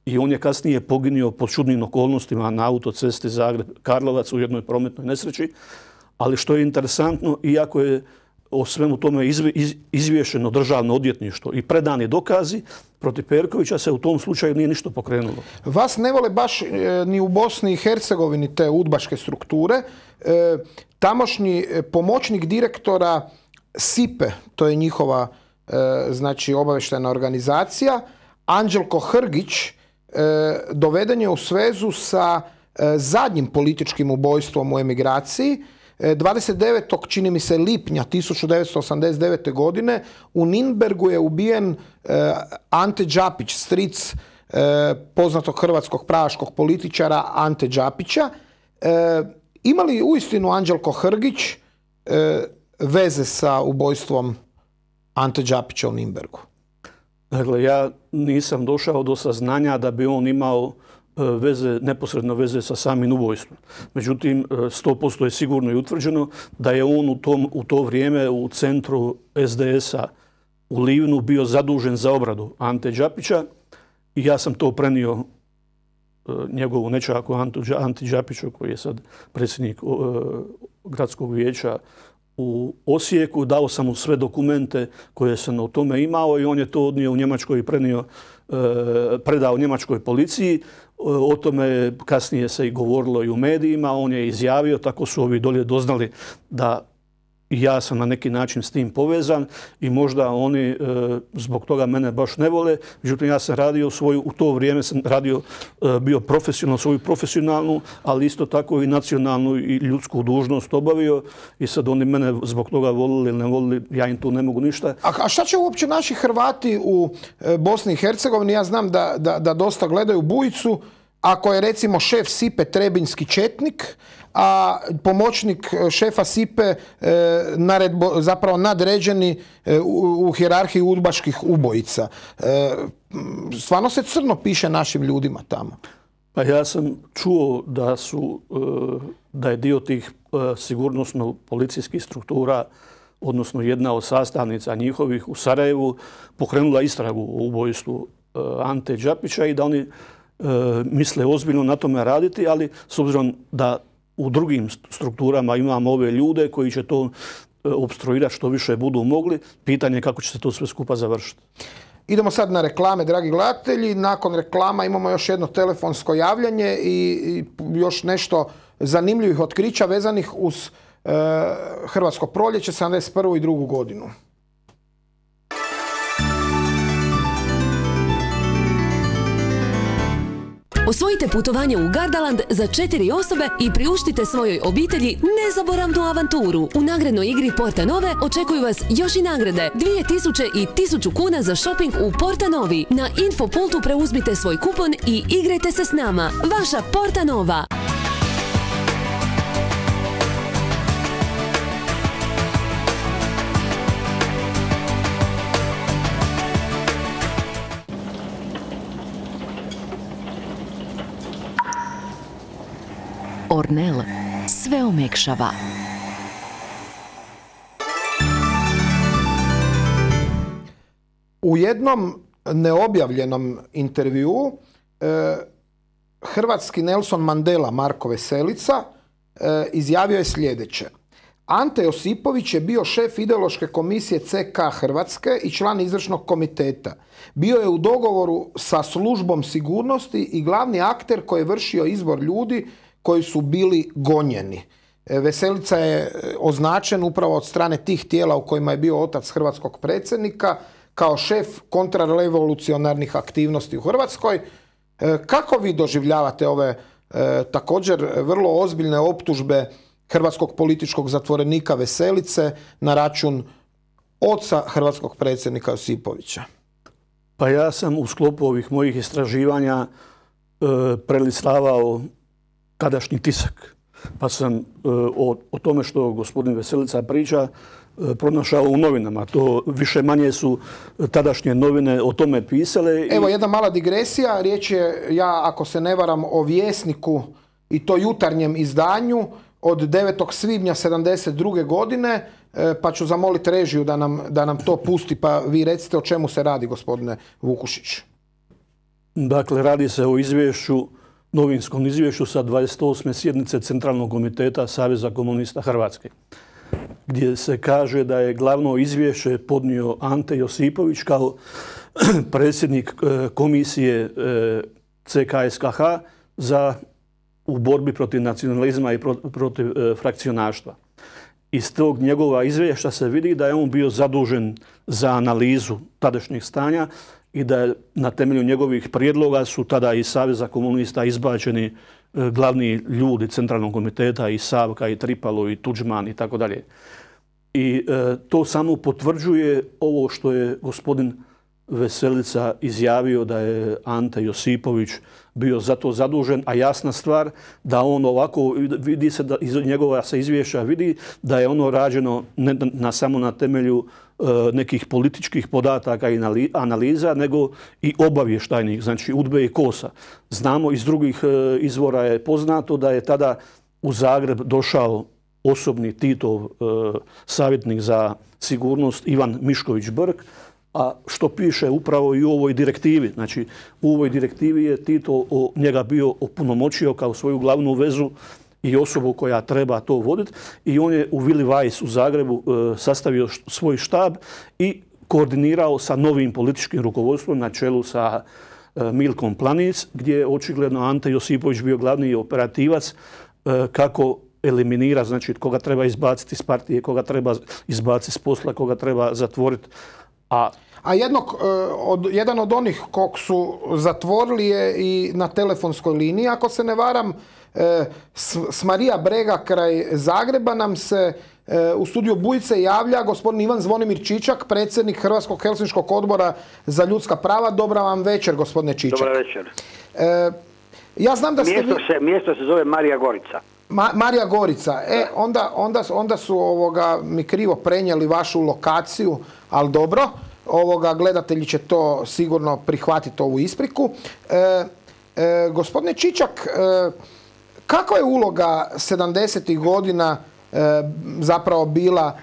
I on je kasnije poginuo pod čudnim okolnostima na autocesti Zagreb-Karlovac u jednoj prometnoj nesreći. Ali što je interesantno, iako je o svemu tome izvješeno državno odvjetništvo i predani dokazi, protiv Perkovića se u tom slučaju nije ništa pokrenulo. Vas ne vole baš ni u Bosni i Hercegovini te udbaške strukture. Tamošnji pomoćnik direktora SIPE, to je njihova znači obavještajna organizacija, Anđelko Hrgić, doveden je u svezu sa zadnjim političkim ubojstvom u emigraciji. 29. čini mi se lipnja 1989. godine u Nürnbergu je ubijen Ante Đapić, stric poznatog hrvatskog pravaškog političara Ante Đapića. Ima li uistinu Anđelko Hrgić veze sa ubojstvom Ante Đapića u Nürnbergu? Dakle, ja nisam došao do saznanja da bi on imao neposredno veze sa samim ubojstvom. Međutim, 100% je sigurno i utvrđeno da je on u to vrijeme u centru SDS-a u Livnu bio zadužen za obradu Ante Đapića i ja sam to prenio njegovu nečaku Anti Đapiću, koji je sad predsjednik gradskog vijeća u Osijeku. Dao sam mu sve dokumente koje sam o tome imao i on je to odnio u Njemačkoj i predao njemačkoj policiji. O tome kasnije se i govorilo i u medijima. On je izjavio, tako su ovi dolje doznali da ja sam na neki način s tim povezan i možda oni zbog toga mene baš ne vole. Međutim, ja sam radio u to vrijeme sam radio, bio profesionalno, svoju profesionalnu, ali isto tako i nacionalnu i ljudsku dužnost obavio i sad oni mene zbog toga volili ili ne volili, ja im tu ne mogu ništa. A šta će uopće naši Hrvati u Bosni i Hercegovini? Ja znam da dosta gledaju Bujicu, ako je recimo šef SIPE Trebinjski četnik, a pomoćnik šefa SIPE zapravo nadređeni u hijerarhiji udbaških ubojica. Stvarno se crno piše našim ljudima tamo. Pa ja sam čuo da je dio tih sigurnosno-policijskih struktura, odnosno jedna od sastavnica njihovih u Sarajevu, pokrenula istragu o ubojstvu Ante Đapića i da oni misle ozbiljno na tome raditi, ali s obzirom da u drugim strukturama imamo ove ljude koji će to opstruirati što više budu mogli, pitanje je kako će se to sve skupa završiti. Idemo sad na reklame, dragi gledatelji. Nakon reklama imamo još jedno telefonsko javljanje i još nešto zanimljivih otkrića vezanih uz Hrvatsko proljeće 71. i 2. godinu. Osvojite putovanje u Gardaland za 4 osobe i priuštite svojoj obitelji nezaboravnu avanturu. U nagradnoj igri Porta Nove očekuju vas još i nagrade. 2000 i 1000 kuna za shopping u Porta Novi. Na Infopultu preuzmite svoj kupon i igrajte se s nama. Vaša Porta Nova. Ornel sve omekšava. U jednom neobjavljenom intervjuu hrvatski Nelson Mandela Marko Veselica izjavio je sljedeće. Ante Josipović je bio šef ideološke komisije CK Hrvatske i član izvršnog komiteta. Bio je u dogovoru sa službom sigurnosti i glavni akter koji je vršio izbor ljudi koji su bili gonjeni. Veselica je označen upravo od strane tih tijela u kojima je bio otac hrvatskog predsjednika kao šef kontrarevolucionarnih aktivnosti u Hrvatskoj. Kako vi doživljavate ove također vrlo ozbiljne optužbe hrvatskog političkog zatvorenika Veselice na račun oca hrvatskog predsjednika Josipovića? Pa ja sam u sklopu ovih mojih istraživanja prelislavao tadašnji tisak. Pa sam o tome što gospodin Veselica priča pronašao u novinama. To više manje su tadašnje novine o tome pisale. Evo jedna mala digresija. Riječ je, ja ako se ne varam, o Vjesniku i to jutarnjem izdanju od 9. svibnja 1972. godine, pa ću zamoliti režiju da nam to pusti, pa vi recite o čemu se radi, gospodine Vukušić. Dakle, radi se o izvješću, novinskom izvješću sa 28. sjednice Centralnog komiteta Saveza komunista Hrvatske, gdje se kaže da je glavno izvješće podnio Ante Josipović kao predsjednik komisije CKSKH u borbi protiv nacionalizma i protiv frakcionaštva. Iz tog njegova izvješća se vidi da je on bio zadužen za analizu tadašnjeg stanja i da je na temelju njegovih prijedloga su tada iz Saveza komunista izbačeni glavni ljudi Centralnog komiteta i Savka i Tripalo i Tuđman i tako dalje. I to samo potvrđuje ovo što je gospodin Veselica izjavio da je Ante Josipović bio za to zadužen, a jasna stvar da on ovako, vidi se da iz njegova se izvješća vidi da je ono rađeno ne samo na temelju nekih političkih podataka i analiza, nego i obavještajnih, znači UDBE i KOS-a. Znamo iz drugih izvora je poznato da je tada u Zagreb došao osobni Titov savjetnik za sigurnost Ivan Mišković-Brk, a što piše upravo i u ovoj direktivi. Znači, u ovoj direktivi je Tito njega bio opunomoćio kao svoju glavnu vezu i osobu koja treba to voditi. I on je u Willy Weiss u Zagrebu sastavio svoj štab i koordinirao sa novim političkim rukovodstvom na čelu sa Milkom Planic, gdje je očigledno Ante Josipović bio glavni operativac kako eliminira, znači koga treba izbaciti iz partije, koga treba izbaciti iz posla, koga treba zatvoriti. A jedan od onih kog su zatvorili je i na telefonskoj liniji, ako se ne varam, s Marija Brega kraj Zagreba nam se u studiju Bujice javlja gospodin Ivan Zvonimir Čičak, predsjednik Hrvatskog helsinškog odbora za ljudska prava. Dobra vam večer, gospodine Čičak. Dobra večer. Ja znam da ste mjesto se zove Marija Gorica. Marija Gorica. Onda su mi krivo prenijeli vašu lokaciju, ali dobro. Gledatelji će to sigurno prihvatiti, ovu ispriku. Gospodine Čičak, kakva je uloga 70. godina zapravo bila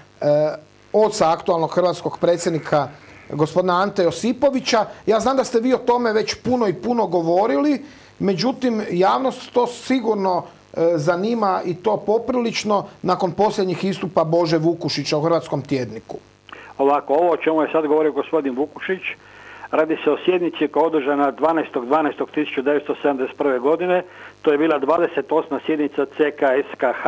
oca aktualnog hrvatskog predsjednika gospodina Ante Josipovića? Ja znam da ste vi o tome već puno govorili, međutim javnost to sigurno zanima i to poprilično nakon posljednjih istupa Bože Vukušića u Hrvatskom tjedniku. Ovako, ovo o čemu je sad govorio gospodin Vukušić, radi se o sjednici koja je održana 12.12.1971. godine. To je bila 28. sjednica CKSKH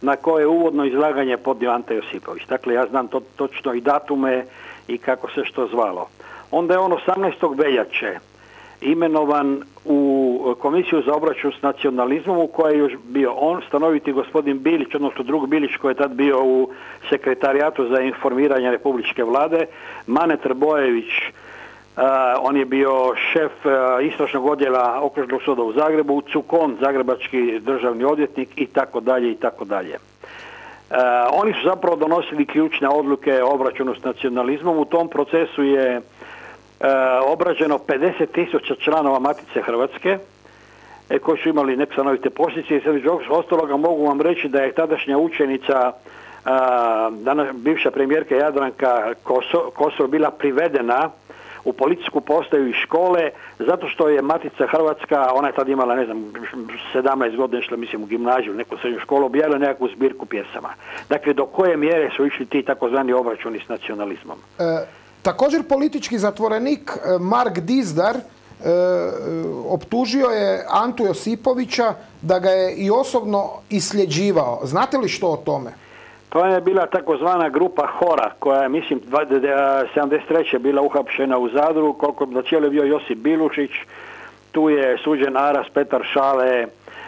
na koje je uvodno izlaganje podnio Ante Josipović. Dakle, ja znam točno i datume i kako se što zvalo. Onda je on 18. veljače imenovan u Komisiju za obračun s nacionalizmom u kojoj je još bio on, stanoviti gospodin Bilić, odnosno drug Bilić koji je tad bio u Sekretarijatu za informiranje Republičke vlade, Mane Trbojević, on je bio šef istražnog odjela Okružnog suda u Zagrebu, Cukon, zagrebački državni odvjetnik i tako dalje i tako dalje. Oni su zapravo donosili ključne odluke o obračunu s nacionalizmom. U tom procesu je obrađeno 50.000 članova Matice Hrvatske koji su imali nestanovite posljedice i između ostaloga mogu vam reći da je tadašnja učenica bivša premijerka Jadranka Kosor bila privedena u policijsku postaju iz škole zato što je Matica Hrvatska, ona je tad imala 17 godina, išla mislim u gimnaziju, neku srednju školu, objavila nekakvu zbirku pjesama. Dakle, do koje mjere su išli ti takozvani obračuni s nacionalizmom? Također politički zatvorenik Mark Dizdar optužio je Antu Josipovića da ga je i osobno isljeđivao. Znate li što o tome? To je bila takozvana grupa Hora koja je, mislim, 73. bila uhapšena u Zadru, koliko na cijelo je bio Josip Bilušić, tu je suđen Aras, Petar Šale,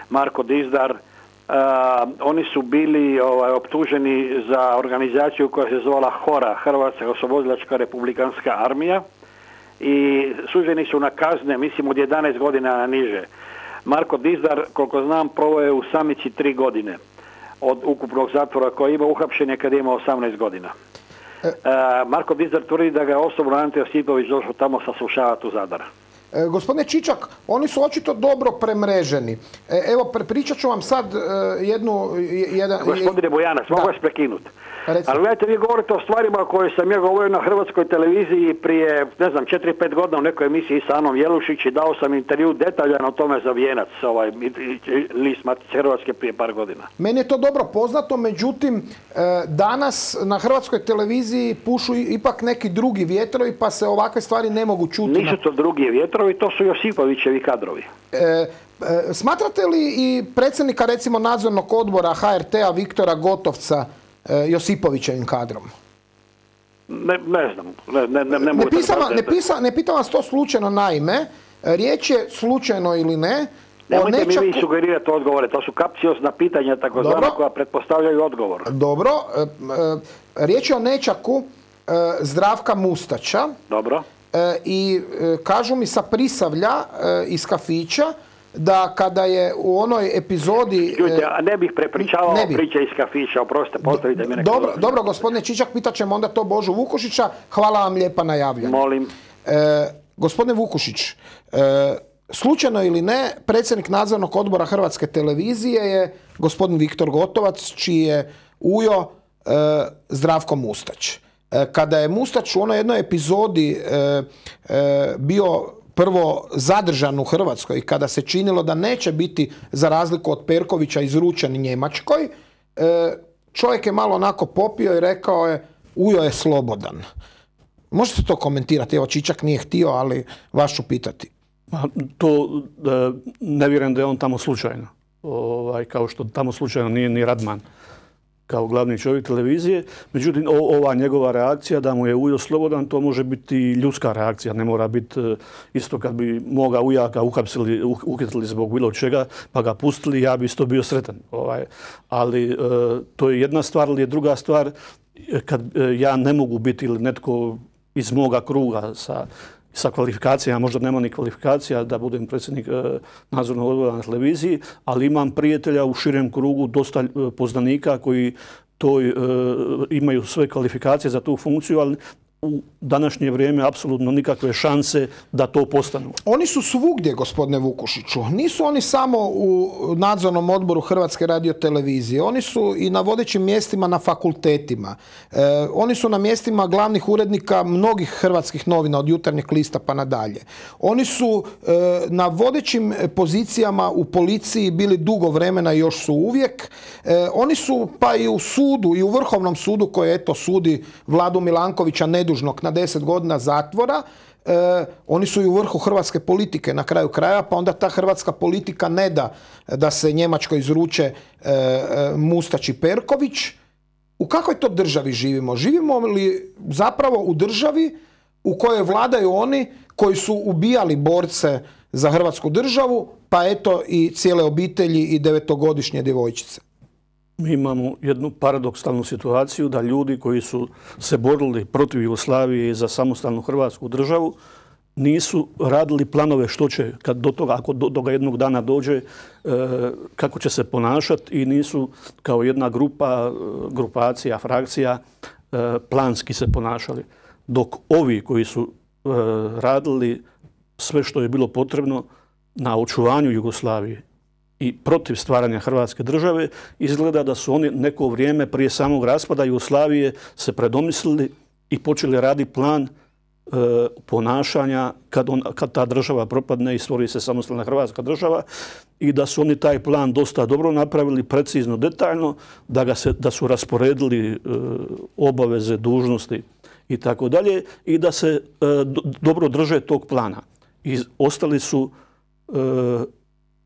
Marko Dizdar. Oni su bili optuženi za organizaciju koja se zvala Hora, Hrvatska oslobodilačka republikanska armija, i suđeni su na kazne, mislim, od 11 godina na niže. Marko Dizdar, koliko znam, proveo je u samici 3 godine od ukupnog zatvora koji ima, uhapšen je kad je imao 18 godina. Marko Dizdar tvrdi da ga je osobno Ante Josipović došao tamo saslušavati u Zadar. Gospodine Čičak, oni su očito dobro premreženi. Evo, pričat ću vam sad Gospodine Bojanac, mogu vas prekinuti. Ali gledajte, vi govorite o stvarima koje sam ja govorio na Hrvatskoj televiziji prije, 4-5 godina u nekoj emisiji sa Anom Jelušić i dao sam intervju detaljan o tome za Vijenac, list Matice Hrvatske prije par godina. Meni je to dobro poznato, međutim, danas na Hrvatskoj televiziji pušu ipak neki drugi vjetrovi, pa se ovakve stvari ne mogu čuti. Nisu to drugi vjetrovi, to su Josipovićevi kadrovi. Smatrate li i predsjednika, recimo, nadzornog odbora HRT-a Viktora Gotovca Josipovićevim kadrom? Ne znam. Ne mogu ne pitam vas to slučajno, naime. Riječ je slučajno ili ne. Nemojte mi vi sugerirati odgovore, to su kapciozna pitanja takozvana koja pretpostavljaju odgovor. Dobro. Riječ je o nećaku Zdravka Mustača. Dobro. I kažu mi sa Prisavlja iz kafića da kada je u onoj epizodi... a ne bih prepričavao priče iz kafića, oprostite, postavite mi neko... Dobro, gospodine Čičak, pitat ćemo onda to Božu Vukušića. Hvala vam lijepa na javljanju. Molim. Gospodine Vukušić, slučajno ili ne, predsjednik nadzornog odbora Hrvatske televizije je gospodin Viktor Gotovac, čiji je ujo Zdravko Mustać. Kada je Mustać u onoj jednoj epizodi bio prvo zadržan u Hrvatskoj, kada se činilo da neće biti, za razliku od Perkovića, izručen Njemačkoj, čovjek je malo onako popio i rekao je ujo je slobodan. Možete to komentirati? Evo, Čičak nije htio, ali vas ću pitati. To ne vjerujem da je on tamo slučajno. Kao što tamo slučajno nije ni Radman kao glavni čovjek televizije. Međutim, ova njegova reakcija da mu je ujo slobodan, to može biti ljudska reakcija. Ne mora biti isto kad bi moga ujaka uhitili zbog bilo čega, pa ga pustili, ja bi isto bio sretan. Ali to je jedna stvar, ali je druga stvar kad ja ne mogu biti ili netko iz moga kruga sa kvalifikacijama, možda nema ni kvalifikacija da budem predsjednik nadzornog odbora na televiziji, ali imam prijatelja u širem krugu, dosta poznanika koji imaju sve kvalifikacije za tu funkciju, ali u današnje vrijeme apsolutno nikakve šanse da to postanu. Oni su svugdje, gospodine Vukušiću. Nisu oni samo u nadzornom odboru Hrvatske radiotelevizije. Oni su i na vodećim mjestima na fakultetima. Oni su na mjestima glavnih urednika mnogih hrvatskih novina, od Jutarnjeg lista pa nadalje. Oni su na vodećim pozicijama u policiji bili dugo vremena i još su uvijek. Oni su pa i u sudu, i u Vrhovnom sudu koji sudi Vladu Milankovića nedužnog na 10 godina zatvora. Oni su i u vrhu hrvatske politike na kraju kraja, pa onda ta hrvatska politika ne da se Njemačkoj izruče Mustać i Perković. U kakvoj to državi živimo? Živimo li zapravo u državi u kojoj vladaju oni koji su ubijali borce za Hrvatsku državu, pa eto i cijele obitelji i 9-godišnje djevojčice? Mi imamo jednu paradoksalnu situaciju da ljudi koji su se borili protiv Jugoslavije i za samostalnu Hrvatsku državu nisu radili planove što će, kad do toga, ako do toga jednog dana dođe, kako će se ponašati, i nisu kao jedna grupacija, frakcija planski se ponašali. Dok ovi koji su radili sve što je bilo potrebno na očuvanju Jugoslavije i protiv stvaranja Hrvatske države, izgleda da su oni neko vrijeme prije samog raspada Jugoslavije se predomislili i počeli raditi plan ponašanja kad ta država propadne i stvori se samostalna Hrvatska država, i da su oni taj plan dosta dobro napravili, precizno, detaljno, da su rasporedili obaveze, dužnosti i tako dalje, i da se dobro drže tog plana. I ostali su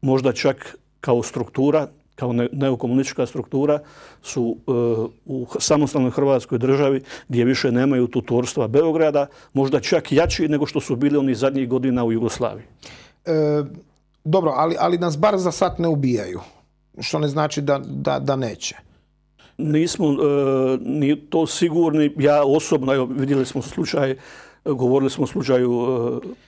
možda čak kao struktura, kao neokomunistička struktura, su u samostalnoj Hrvatskoj državi, gdje više nemaju tutorstva Beograda, možda čak jači nego što su bili onih zadnjih godina u Jugoslaviji. Dobro, ali nas bar za sad ne ubijaju, što ne znači da neće. Nismo ni to sigurni. Ja osobno, evo, vidjeli smo slučaj, govorili smo o slučaju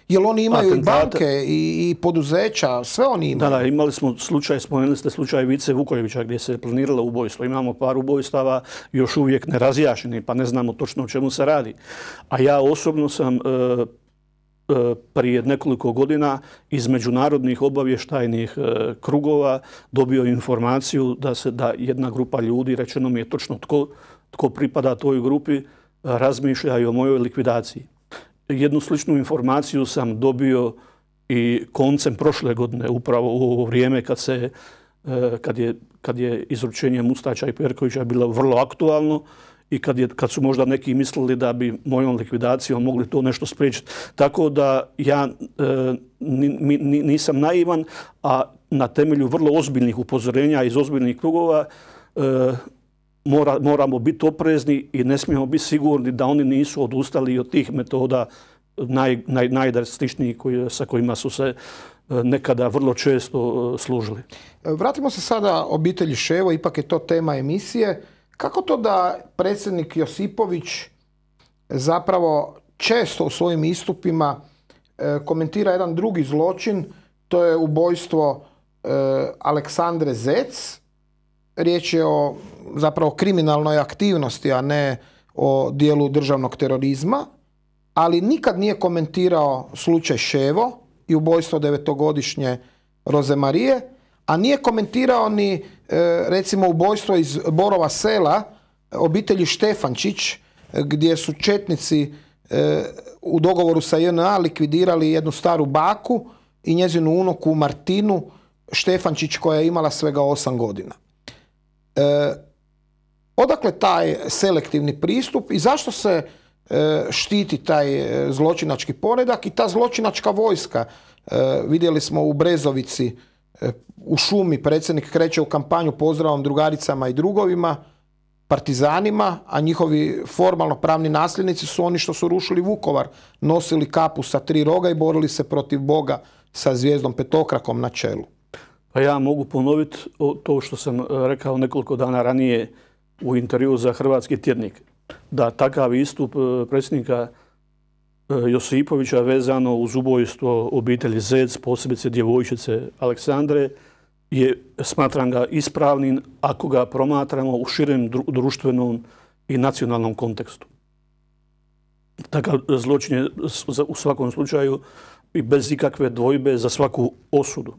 Jel oni imaju atentata. I banke i poduzeća, sve oni imaju? Da, imali smo slučaj, spomenuli ste slučaj Vice Vukojevića gdje se planiralo ubojstvo. Imamo par ubojstava još uvijek nerazjašnjeni, pa ne znamo točno o čemu se radi. A ja osobno sam prije nekoliko godina iz međunarodnih obavještajnih krugova dobio informaciju da jedna grupa ljudi, rečeno mi je točno tko pripada toj grupi, razmišlja i o mojoj likvidaciji. Jednu sličnu informaciju sam dobio i koncem prošle godine, upravo u ovo vrijeme kad je izručenje Mustača i Perkovića bilo vrlo aktualno i kad su možda neki mislili da bi mojom likvidacijom mogli to nešto spriječiti. Tako da ja nisam naivan, a na temelju vrlo ozbiljnih upozorenja iz ozbiljnih krugova moramo biti oprezni i ne smijemo biti sigurni da oni nisu odustali od tih metoda najdrastičnijih sa kojima su se nekada vrlo često služili. Vratimo se sada obitelji Ševo, ipak je to tema emisije. Kako to da predsjednik Josipović zapravo često u svojim istupima komentira jedan drugi zločin, to je ubojstvo Aleksandre Zec. Riječ je o zapravo kriminalnoj aktivnosti, a ne o dijelu državnog terorizma, ali nikad nije komentirao slučaj Ševo i ubojstvo 9-godišnje Rozemarije, a nije komentirao ni recimo ubojstvo iz Borova Sela obitelji Štefančić, gdje su četnici u dogovoru sa JNA likvidirali jednu staru baku i njezinu unuku Martinu Štefančić koja je imala svega 8 godina. Odakle taj selektivni pristup i zašto se štiti taj zločinački poredak i ta zločinačka vojska? Vidjeli smo u Brezovici u šumi predsjednik kreće u kampanju pozdravom drugaricama i drugovima, partizanima, a njihovi formalno pravni nasljednici su oni što su rušili Vukovar, nosili kapu sa 3 roga i borili se protiv Boga sa zvijezdom petokrakom na čelu. Pa ja mogu ponoviti to što sam rekao nekoliko dana ranije u intervjuu za Hrvatski tjednik, da takav istup predsjednika Josipovića vezano uz ubojstvo obitelji Zec, posebice djevojčice Aleksandre, smatram ga ispravnim ako ga promatramo u širem društvenom i nacionalnom kontekstu. Takav zločin je u svakom slučaju i bez ikakve dvojbe za svaku osudu.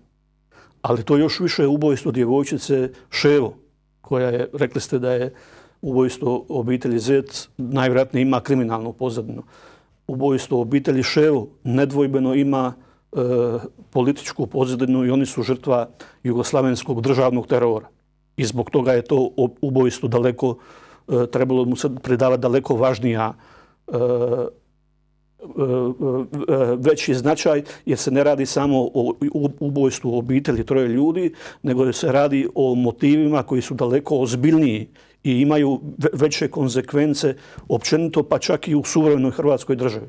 Ali to još više je ubojstvo djevojčice Ševo, koja je, rekli ste da je ubojstvo obitelji Zec, najvjerojatnije ima kriminalnu pozadinu. Ubojstvo obitelji Ševo nedvojbeno ima političku pozadinu i oni su žrtva jugoslavenskog državnog terora. I zbog toga je to ubojstvo daleko, trebalo mu se pridavati daleko važnija veći značaj, jer se ne radi samo o ubojstvu obitelji 3 ljudi, nego se radi o motivima koji su daleko ozbiljniji i imaju veće konsekvence općenito, pa čak i u suvremenoj Hrvatskoj državi.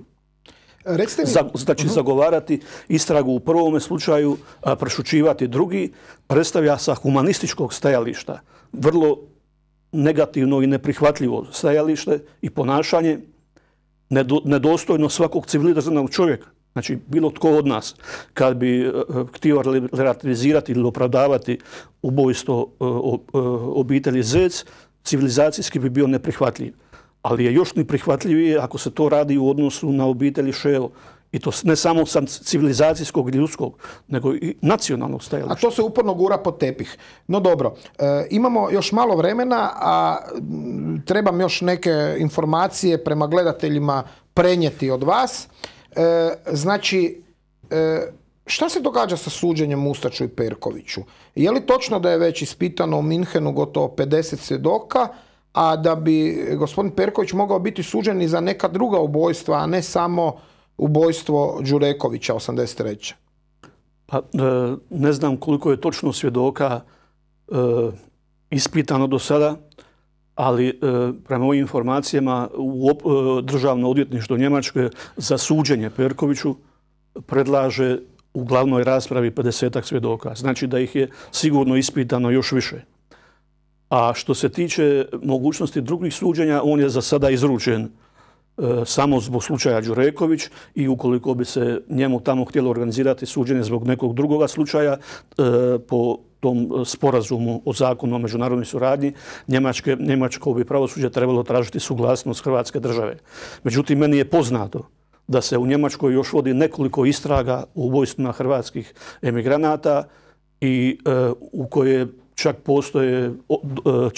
Znači, zagovarati istragu u prvome slučaju, a prešućivati drugi, predstavlja sa humanističkog stajališta vrlo negativno i neprihvatljivo stajalište i ponašanje nedostojno svakog civiliziranog čovjeka. Znači, bilo tko od nas, kad bi htio relativizirati ili opravdavati ubojstvo obitelji Zec, civilizacijski bi bio neprihvatljiv. Ali je još neprihvatljivije ako se to radi u odnosu na obitelji Ševo. I to ne samo sa civilizacijskog i ljudskog, nego i nacionalnog stajališta. A to se uporno gura pod tepih. No dobro, imamo još malo vremena, a trebam još neke informacije prema gledateljima prenijeti od vas. Znači, šta se događa sa suđenjem Mustaču i Perkoviću? Je li točno da je već ispitano u Minhenu gotovo 50 svjedoka, a da bi gospodin Perković mogao biti suđen i za neka druga ubojstva, a ne samo ubojstvo Đurekovića 83. Pa, ne znam koliko je točno svjedoka ispitano do sada, ali prema ovim informacijama Državno odvjetništvo Njemačke za suđenje Perkoviću predlaže u glavnoj raspravi 50-ak svjedoka. Znači da ih je sigurno ispitano još više. A što se tiče mogućnosti drugih suđenja, on je za sada izručen samo zbog slučaja Đureković i ukoliko bi se njemu tamo htjelo organizirati suđenje zbog nekog drugoga slučaja po tom sporazumu o zakonu o međunarodnoj suradnji, njemačko bi pravosuđe trebalo tražiti suglasnost Hrvatske države. Međutim, meni je poznato da se u Njemačkoj još vodi nekoliko istraga u ubojstvima hrvatskih emigranata i u koje čak postoje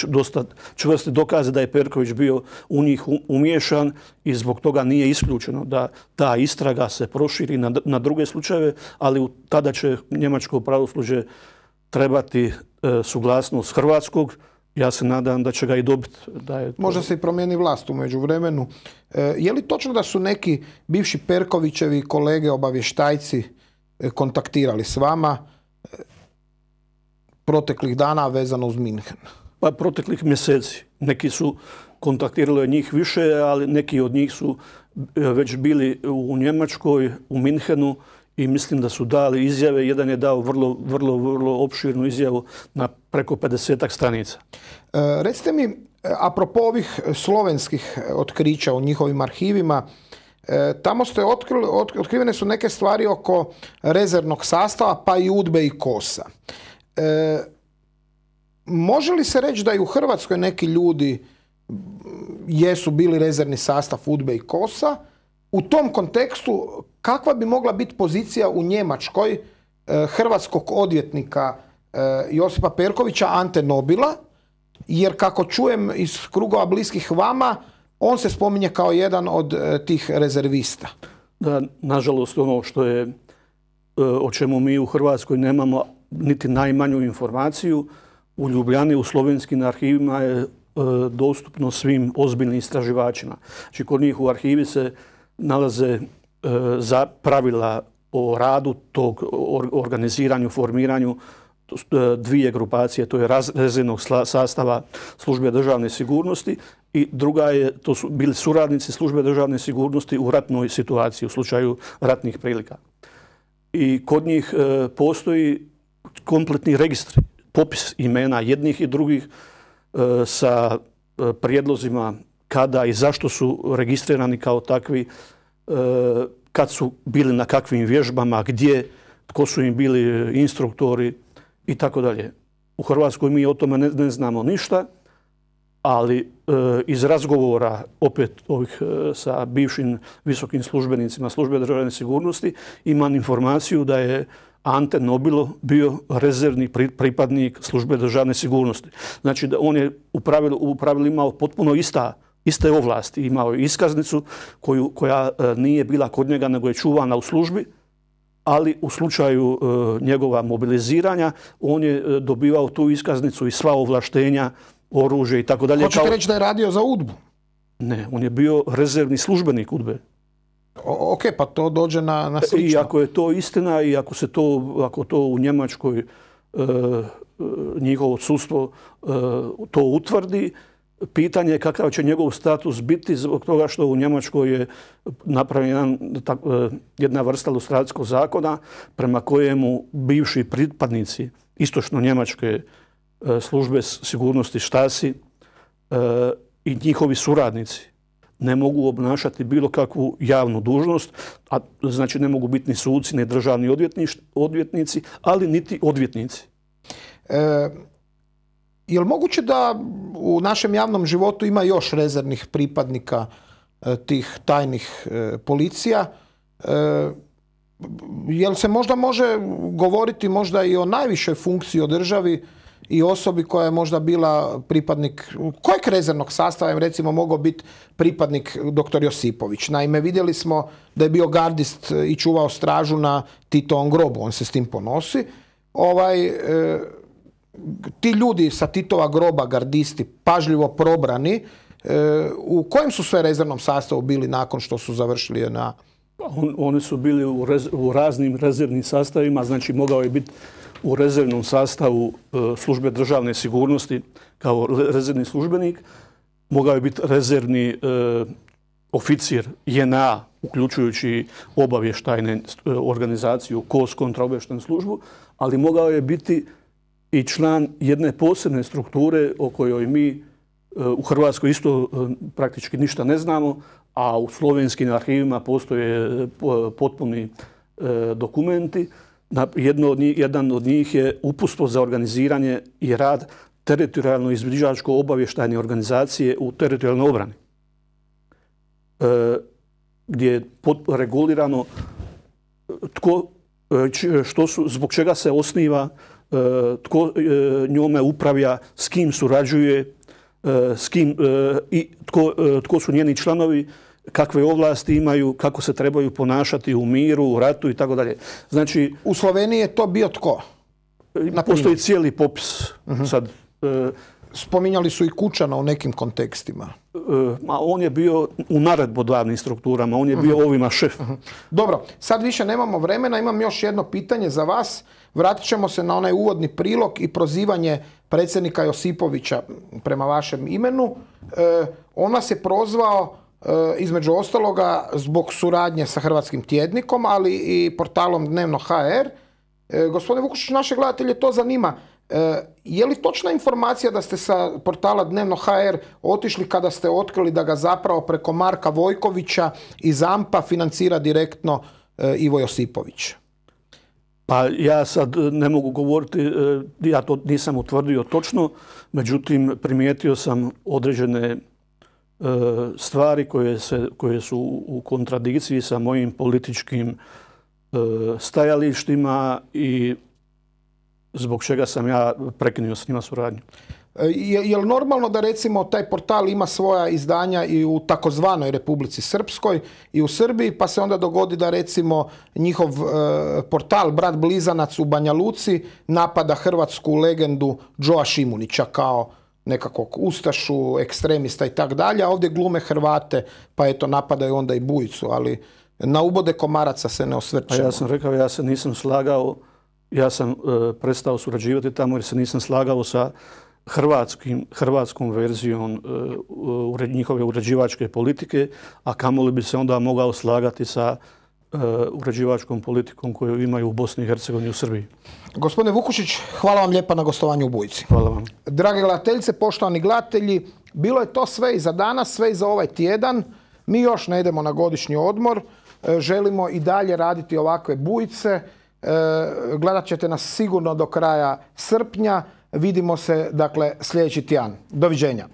dosta čvrsti dokaze da je Perković bio u njih umiješan i zbog toga nije isključeno da ta istraga se proširi na druge slučajeve, ali tada će njemačko pravosuđe trebati suglasnost hrvatskog. Ja se nadam da će ga i dobiti. Možda se i promijeni vlast u međuvremenu. Je li točno da su neki bivši Perkovićevi kolege obavještajci kontaktirali s vama proteklih dana vezano uz Minhen? Pa proteklih mjeseci. Neki su kontaktirali od njih više, ali neki od njih su već bili u Njemačkoj, u Minhenu i mislim da su dali izjave. Jedan je dao vrlo opširnu izjavu na preko 50 stranica. Recite mi, apropo ovih slovenskih otkrića u njihovim arhivima, tamo ste otkrivene su neke stvari oko rezervnog sastava, pa i UDBE i KOS-a. Može li se reći da i u Hrvatskoj neki ljudi jesu bili rezervni sastav UDBE i KOS-a? U tom kontekstu, kakva bi mogla biti pozicija u Njemačkoj hrvatskog odvjetnika Josipa Perkovića, Ante Nobila, jer kako čujem iz krugova bliskih vama, on se spominje kao jedan od tih rezervista. Da, nažalost, ono što je, o čemu mi u Hrvatskoj nemamo niti najmanju informaciju, u Ljubljani, u slovenskim arhivima je dostupno svim ozbiljnim istraživačima. Znači, kod njih u arhivi se nalaze za pravila o radu tog organiziranju, formiranju dvije grupacije, to je rezervnog sastava Službe državne sigurnosti i druga je, to su bili suradnici Službe državne sigurnosti u ratnoj situaciji, u slučaju ratnih prilika. I kod njih postoji kompletni registri, popis imena jednih i drugih sa prijedlozima kada i zašto su registrirani kao takvi, kad su bili na kakvim vježbama, gdje, tko su im bili instruktori i tako dalje. U Hrvatskoj mi o tome ne znamo ništa, ali iz razgovora opet ovih sa bivšim visokim službenicima Službe državne sigurnosti imam informaciju da je Ante Nobilo bio rezervni pripadnik Službe državne sigurnosti. Znači da on je u pravilu imao potpuno iste ovlasti. Imao je iskaznicu koja nije bila kod njega, nego je čuvana u službi, ali u slučaju njegova mobiliziranja on je dobivao tu iskaznicu i sva ovlaštenja, oružje i tako dalje. Hoćete reći da je radio za UDBU? Ne, on je bio rezervni službenik UDBE. Ok, pa to dođe na slično. I ako je to istina i ako to u Njemačkoj njihovo sudstvo to utvrdi, pitanje je kakav će njegov status biti zbog toga što u Njemačkoj je napravljena jedna vrsta lustracijskog zakona prema kojemu bivši pripadnici istočno-njemačke službe sigurnosti Stasi i njihovi suradnici ne mogu obnašati bilo kakvu javnu dužnost, a znači ne mogu biti ni suci, ni državni odvjetnici, ali niti odvjetnici. Je li moguće da u našem javnom životu ima još rezervnih pripadnika tih tajnih policija? Je li se možda može govoriti možda i o najvišoj funkciji u državi i osobi koja je možda bila pripadnik, kojeg rezervnog sastava je recimo mogao biti pripadnik dr. Josipović? Naime, vidjeli smo da je bio gardist i čuvao stražu na Titovom grobu, on se s tim ponosi. Ti ljudi sa Titova groba, gardisti, pažljivo probrani, u kojem su sve rezervnom sastavu bili nakon što su završili na... Oni su bili u raznim rezervnim sastavima, znači mogao je biti u rezervnom sastavu Službe državne sigurnosti kao rezervni službenik, mogao je biti rezervni oficir JNA, uključujući obavještajne organizaciju KOS, kontraobavještajnu službu, ali mogao je biti i član jedne posebne strukture o kojoj mi u Hrvatskoj isto praktički ništa ne znamo, a u slovenskim arhivima postoje potpuni dokumenti. Jedan od njih je uputstvo za organiziranje i rad teritorijalno izviđačko obavještajne organizacije u teritorijalnoj obrani, gdje je regulirano zbog čega se osniva, tko njome upravlja, s kim surađuje, i tko su njeni članovi, kakve ovlasti imaju, kako se trebaju ponašati u miru, u ratu i tako dalje. Znači, u Sloveniji je to bio tko? Postoji cijeli popis. Sad, spominjali su i Kučana u nekim kontekstima. on je bio u naredbodavnim strukturama, on je bio ovima šef. Dobro, sad više nemamo vremena, imam još jedno pitanje za vas. Vratit ćemo se na onaj uvodni prilog i prozivanje predsjednika Josipovića prema vašem imenu. On vas je prozvao između ostaloga zbog suradnje sa Hrvatskim tjednikom, ali i portalom Dnevno.hr. Gospodine Vukušić, naše gledatelje to zanima. Je li točna informacija da ste sa portala Dnevno.hr otišli kada ste otkrili da ga zapravo preko Marka Vojkovića iz AMP-a financira direktno Ivo Josipović? Pa ja sad ne mogu govoriti, ja to nisam utvrdio točno, međutim primijetio sam određene stvari koje su u kontradikciji sa mojim političkim stajalištima i zbog čega sam ja prekinuo s njima suradnju. Je li normalno da recimo taj portal ima svoja izdanja i u takozvanoj Republici Srpskoj i u Srbiji, pa se onda dogodi da recimo njihov portal Brat Blizanac u Banja Luci napada hrvatsku legendu Džoa Šimunića kao nekakvog ustašu, ekstremista i tak dalje, a ovdje glume Hrvate, pa eto napadaju onda i Bujicu, ali na ubode komaraca se ne osvrćemo. A ja sam rekao, ja se nisam slagao, ja sam prestao surađivati tamo jer se nisam slagao sa hrvatskom verzijom njihove uređivačke politike, a kamoli bi se onda mogao slagati sa uređivačkom politikom koju imaju u Bosni i Hercegovini i u Srbiji. Gospodine Vukušić, hvala vam lijepa na gostovanju u Bujici. Hvala vam. Drage gledateljice, poštovani gledatelji, bilo je to sve i za danas, sve i za ovaj tjedan. Mi još ne idemo na godišnji odmor. Želimo i dalje raditi ovakve Bujice. Gledat ćete nas sigurno do kraja srpnja. Vidimo se, dakle, sljedeći tjedan. Doviđenja.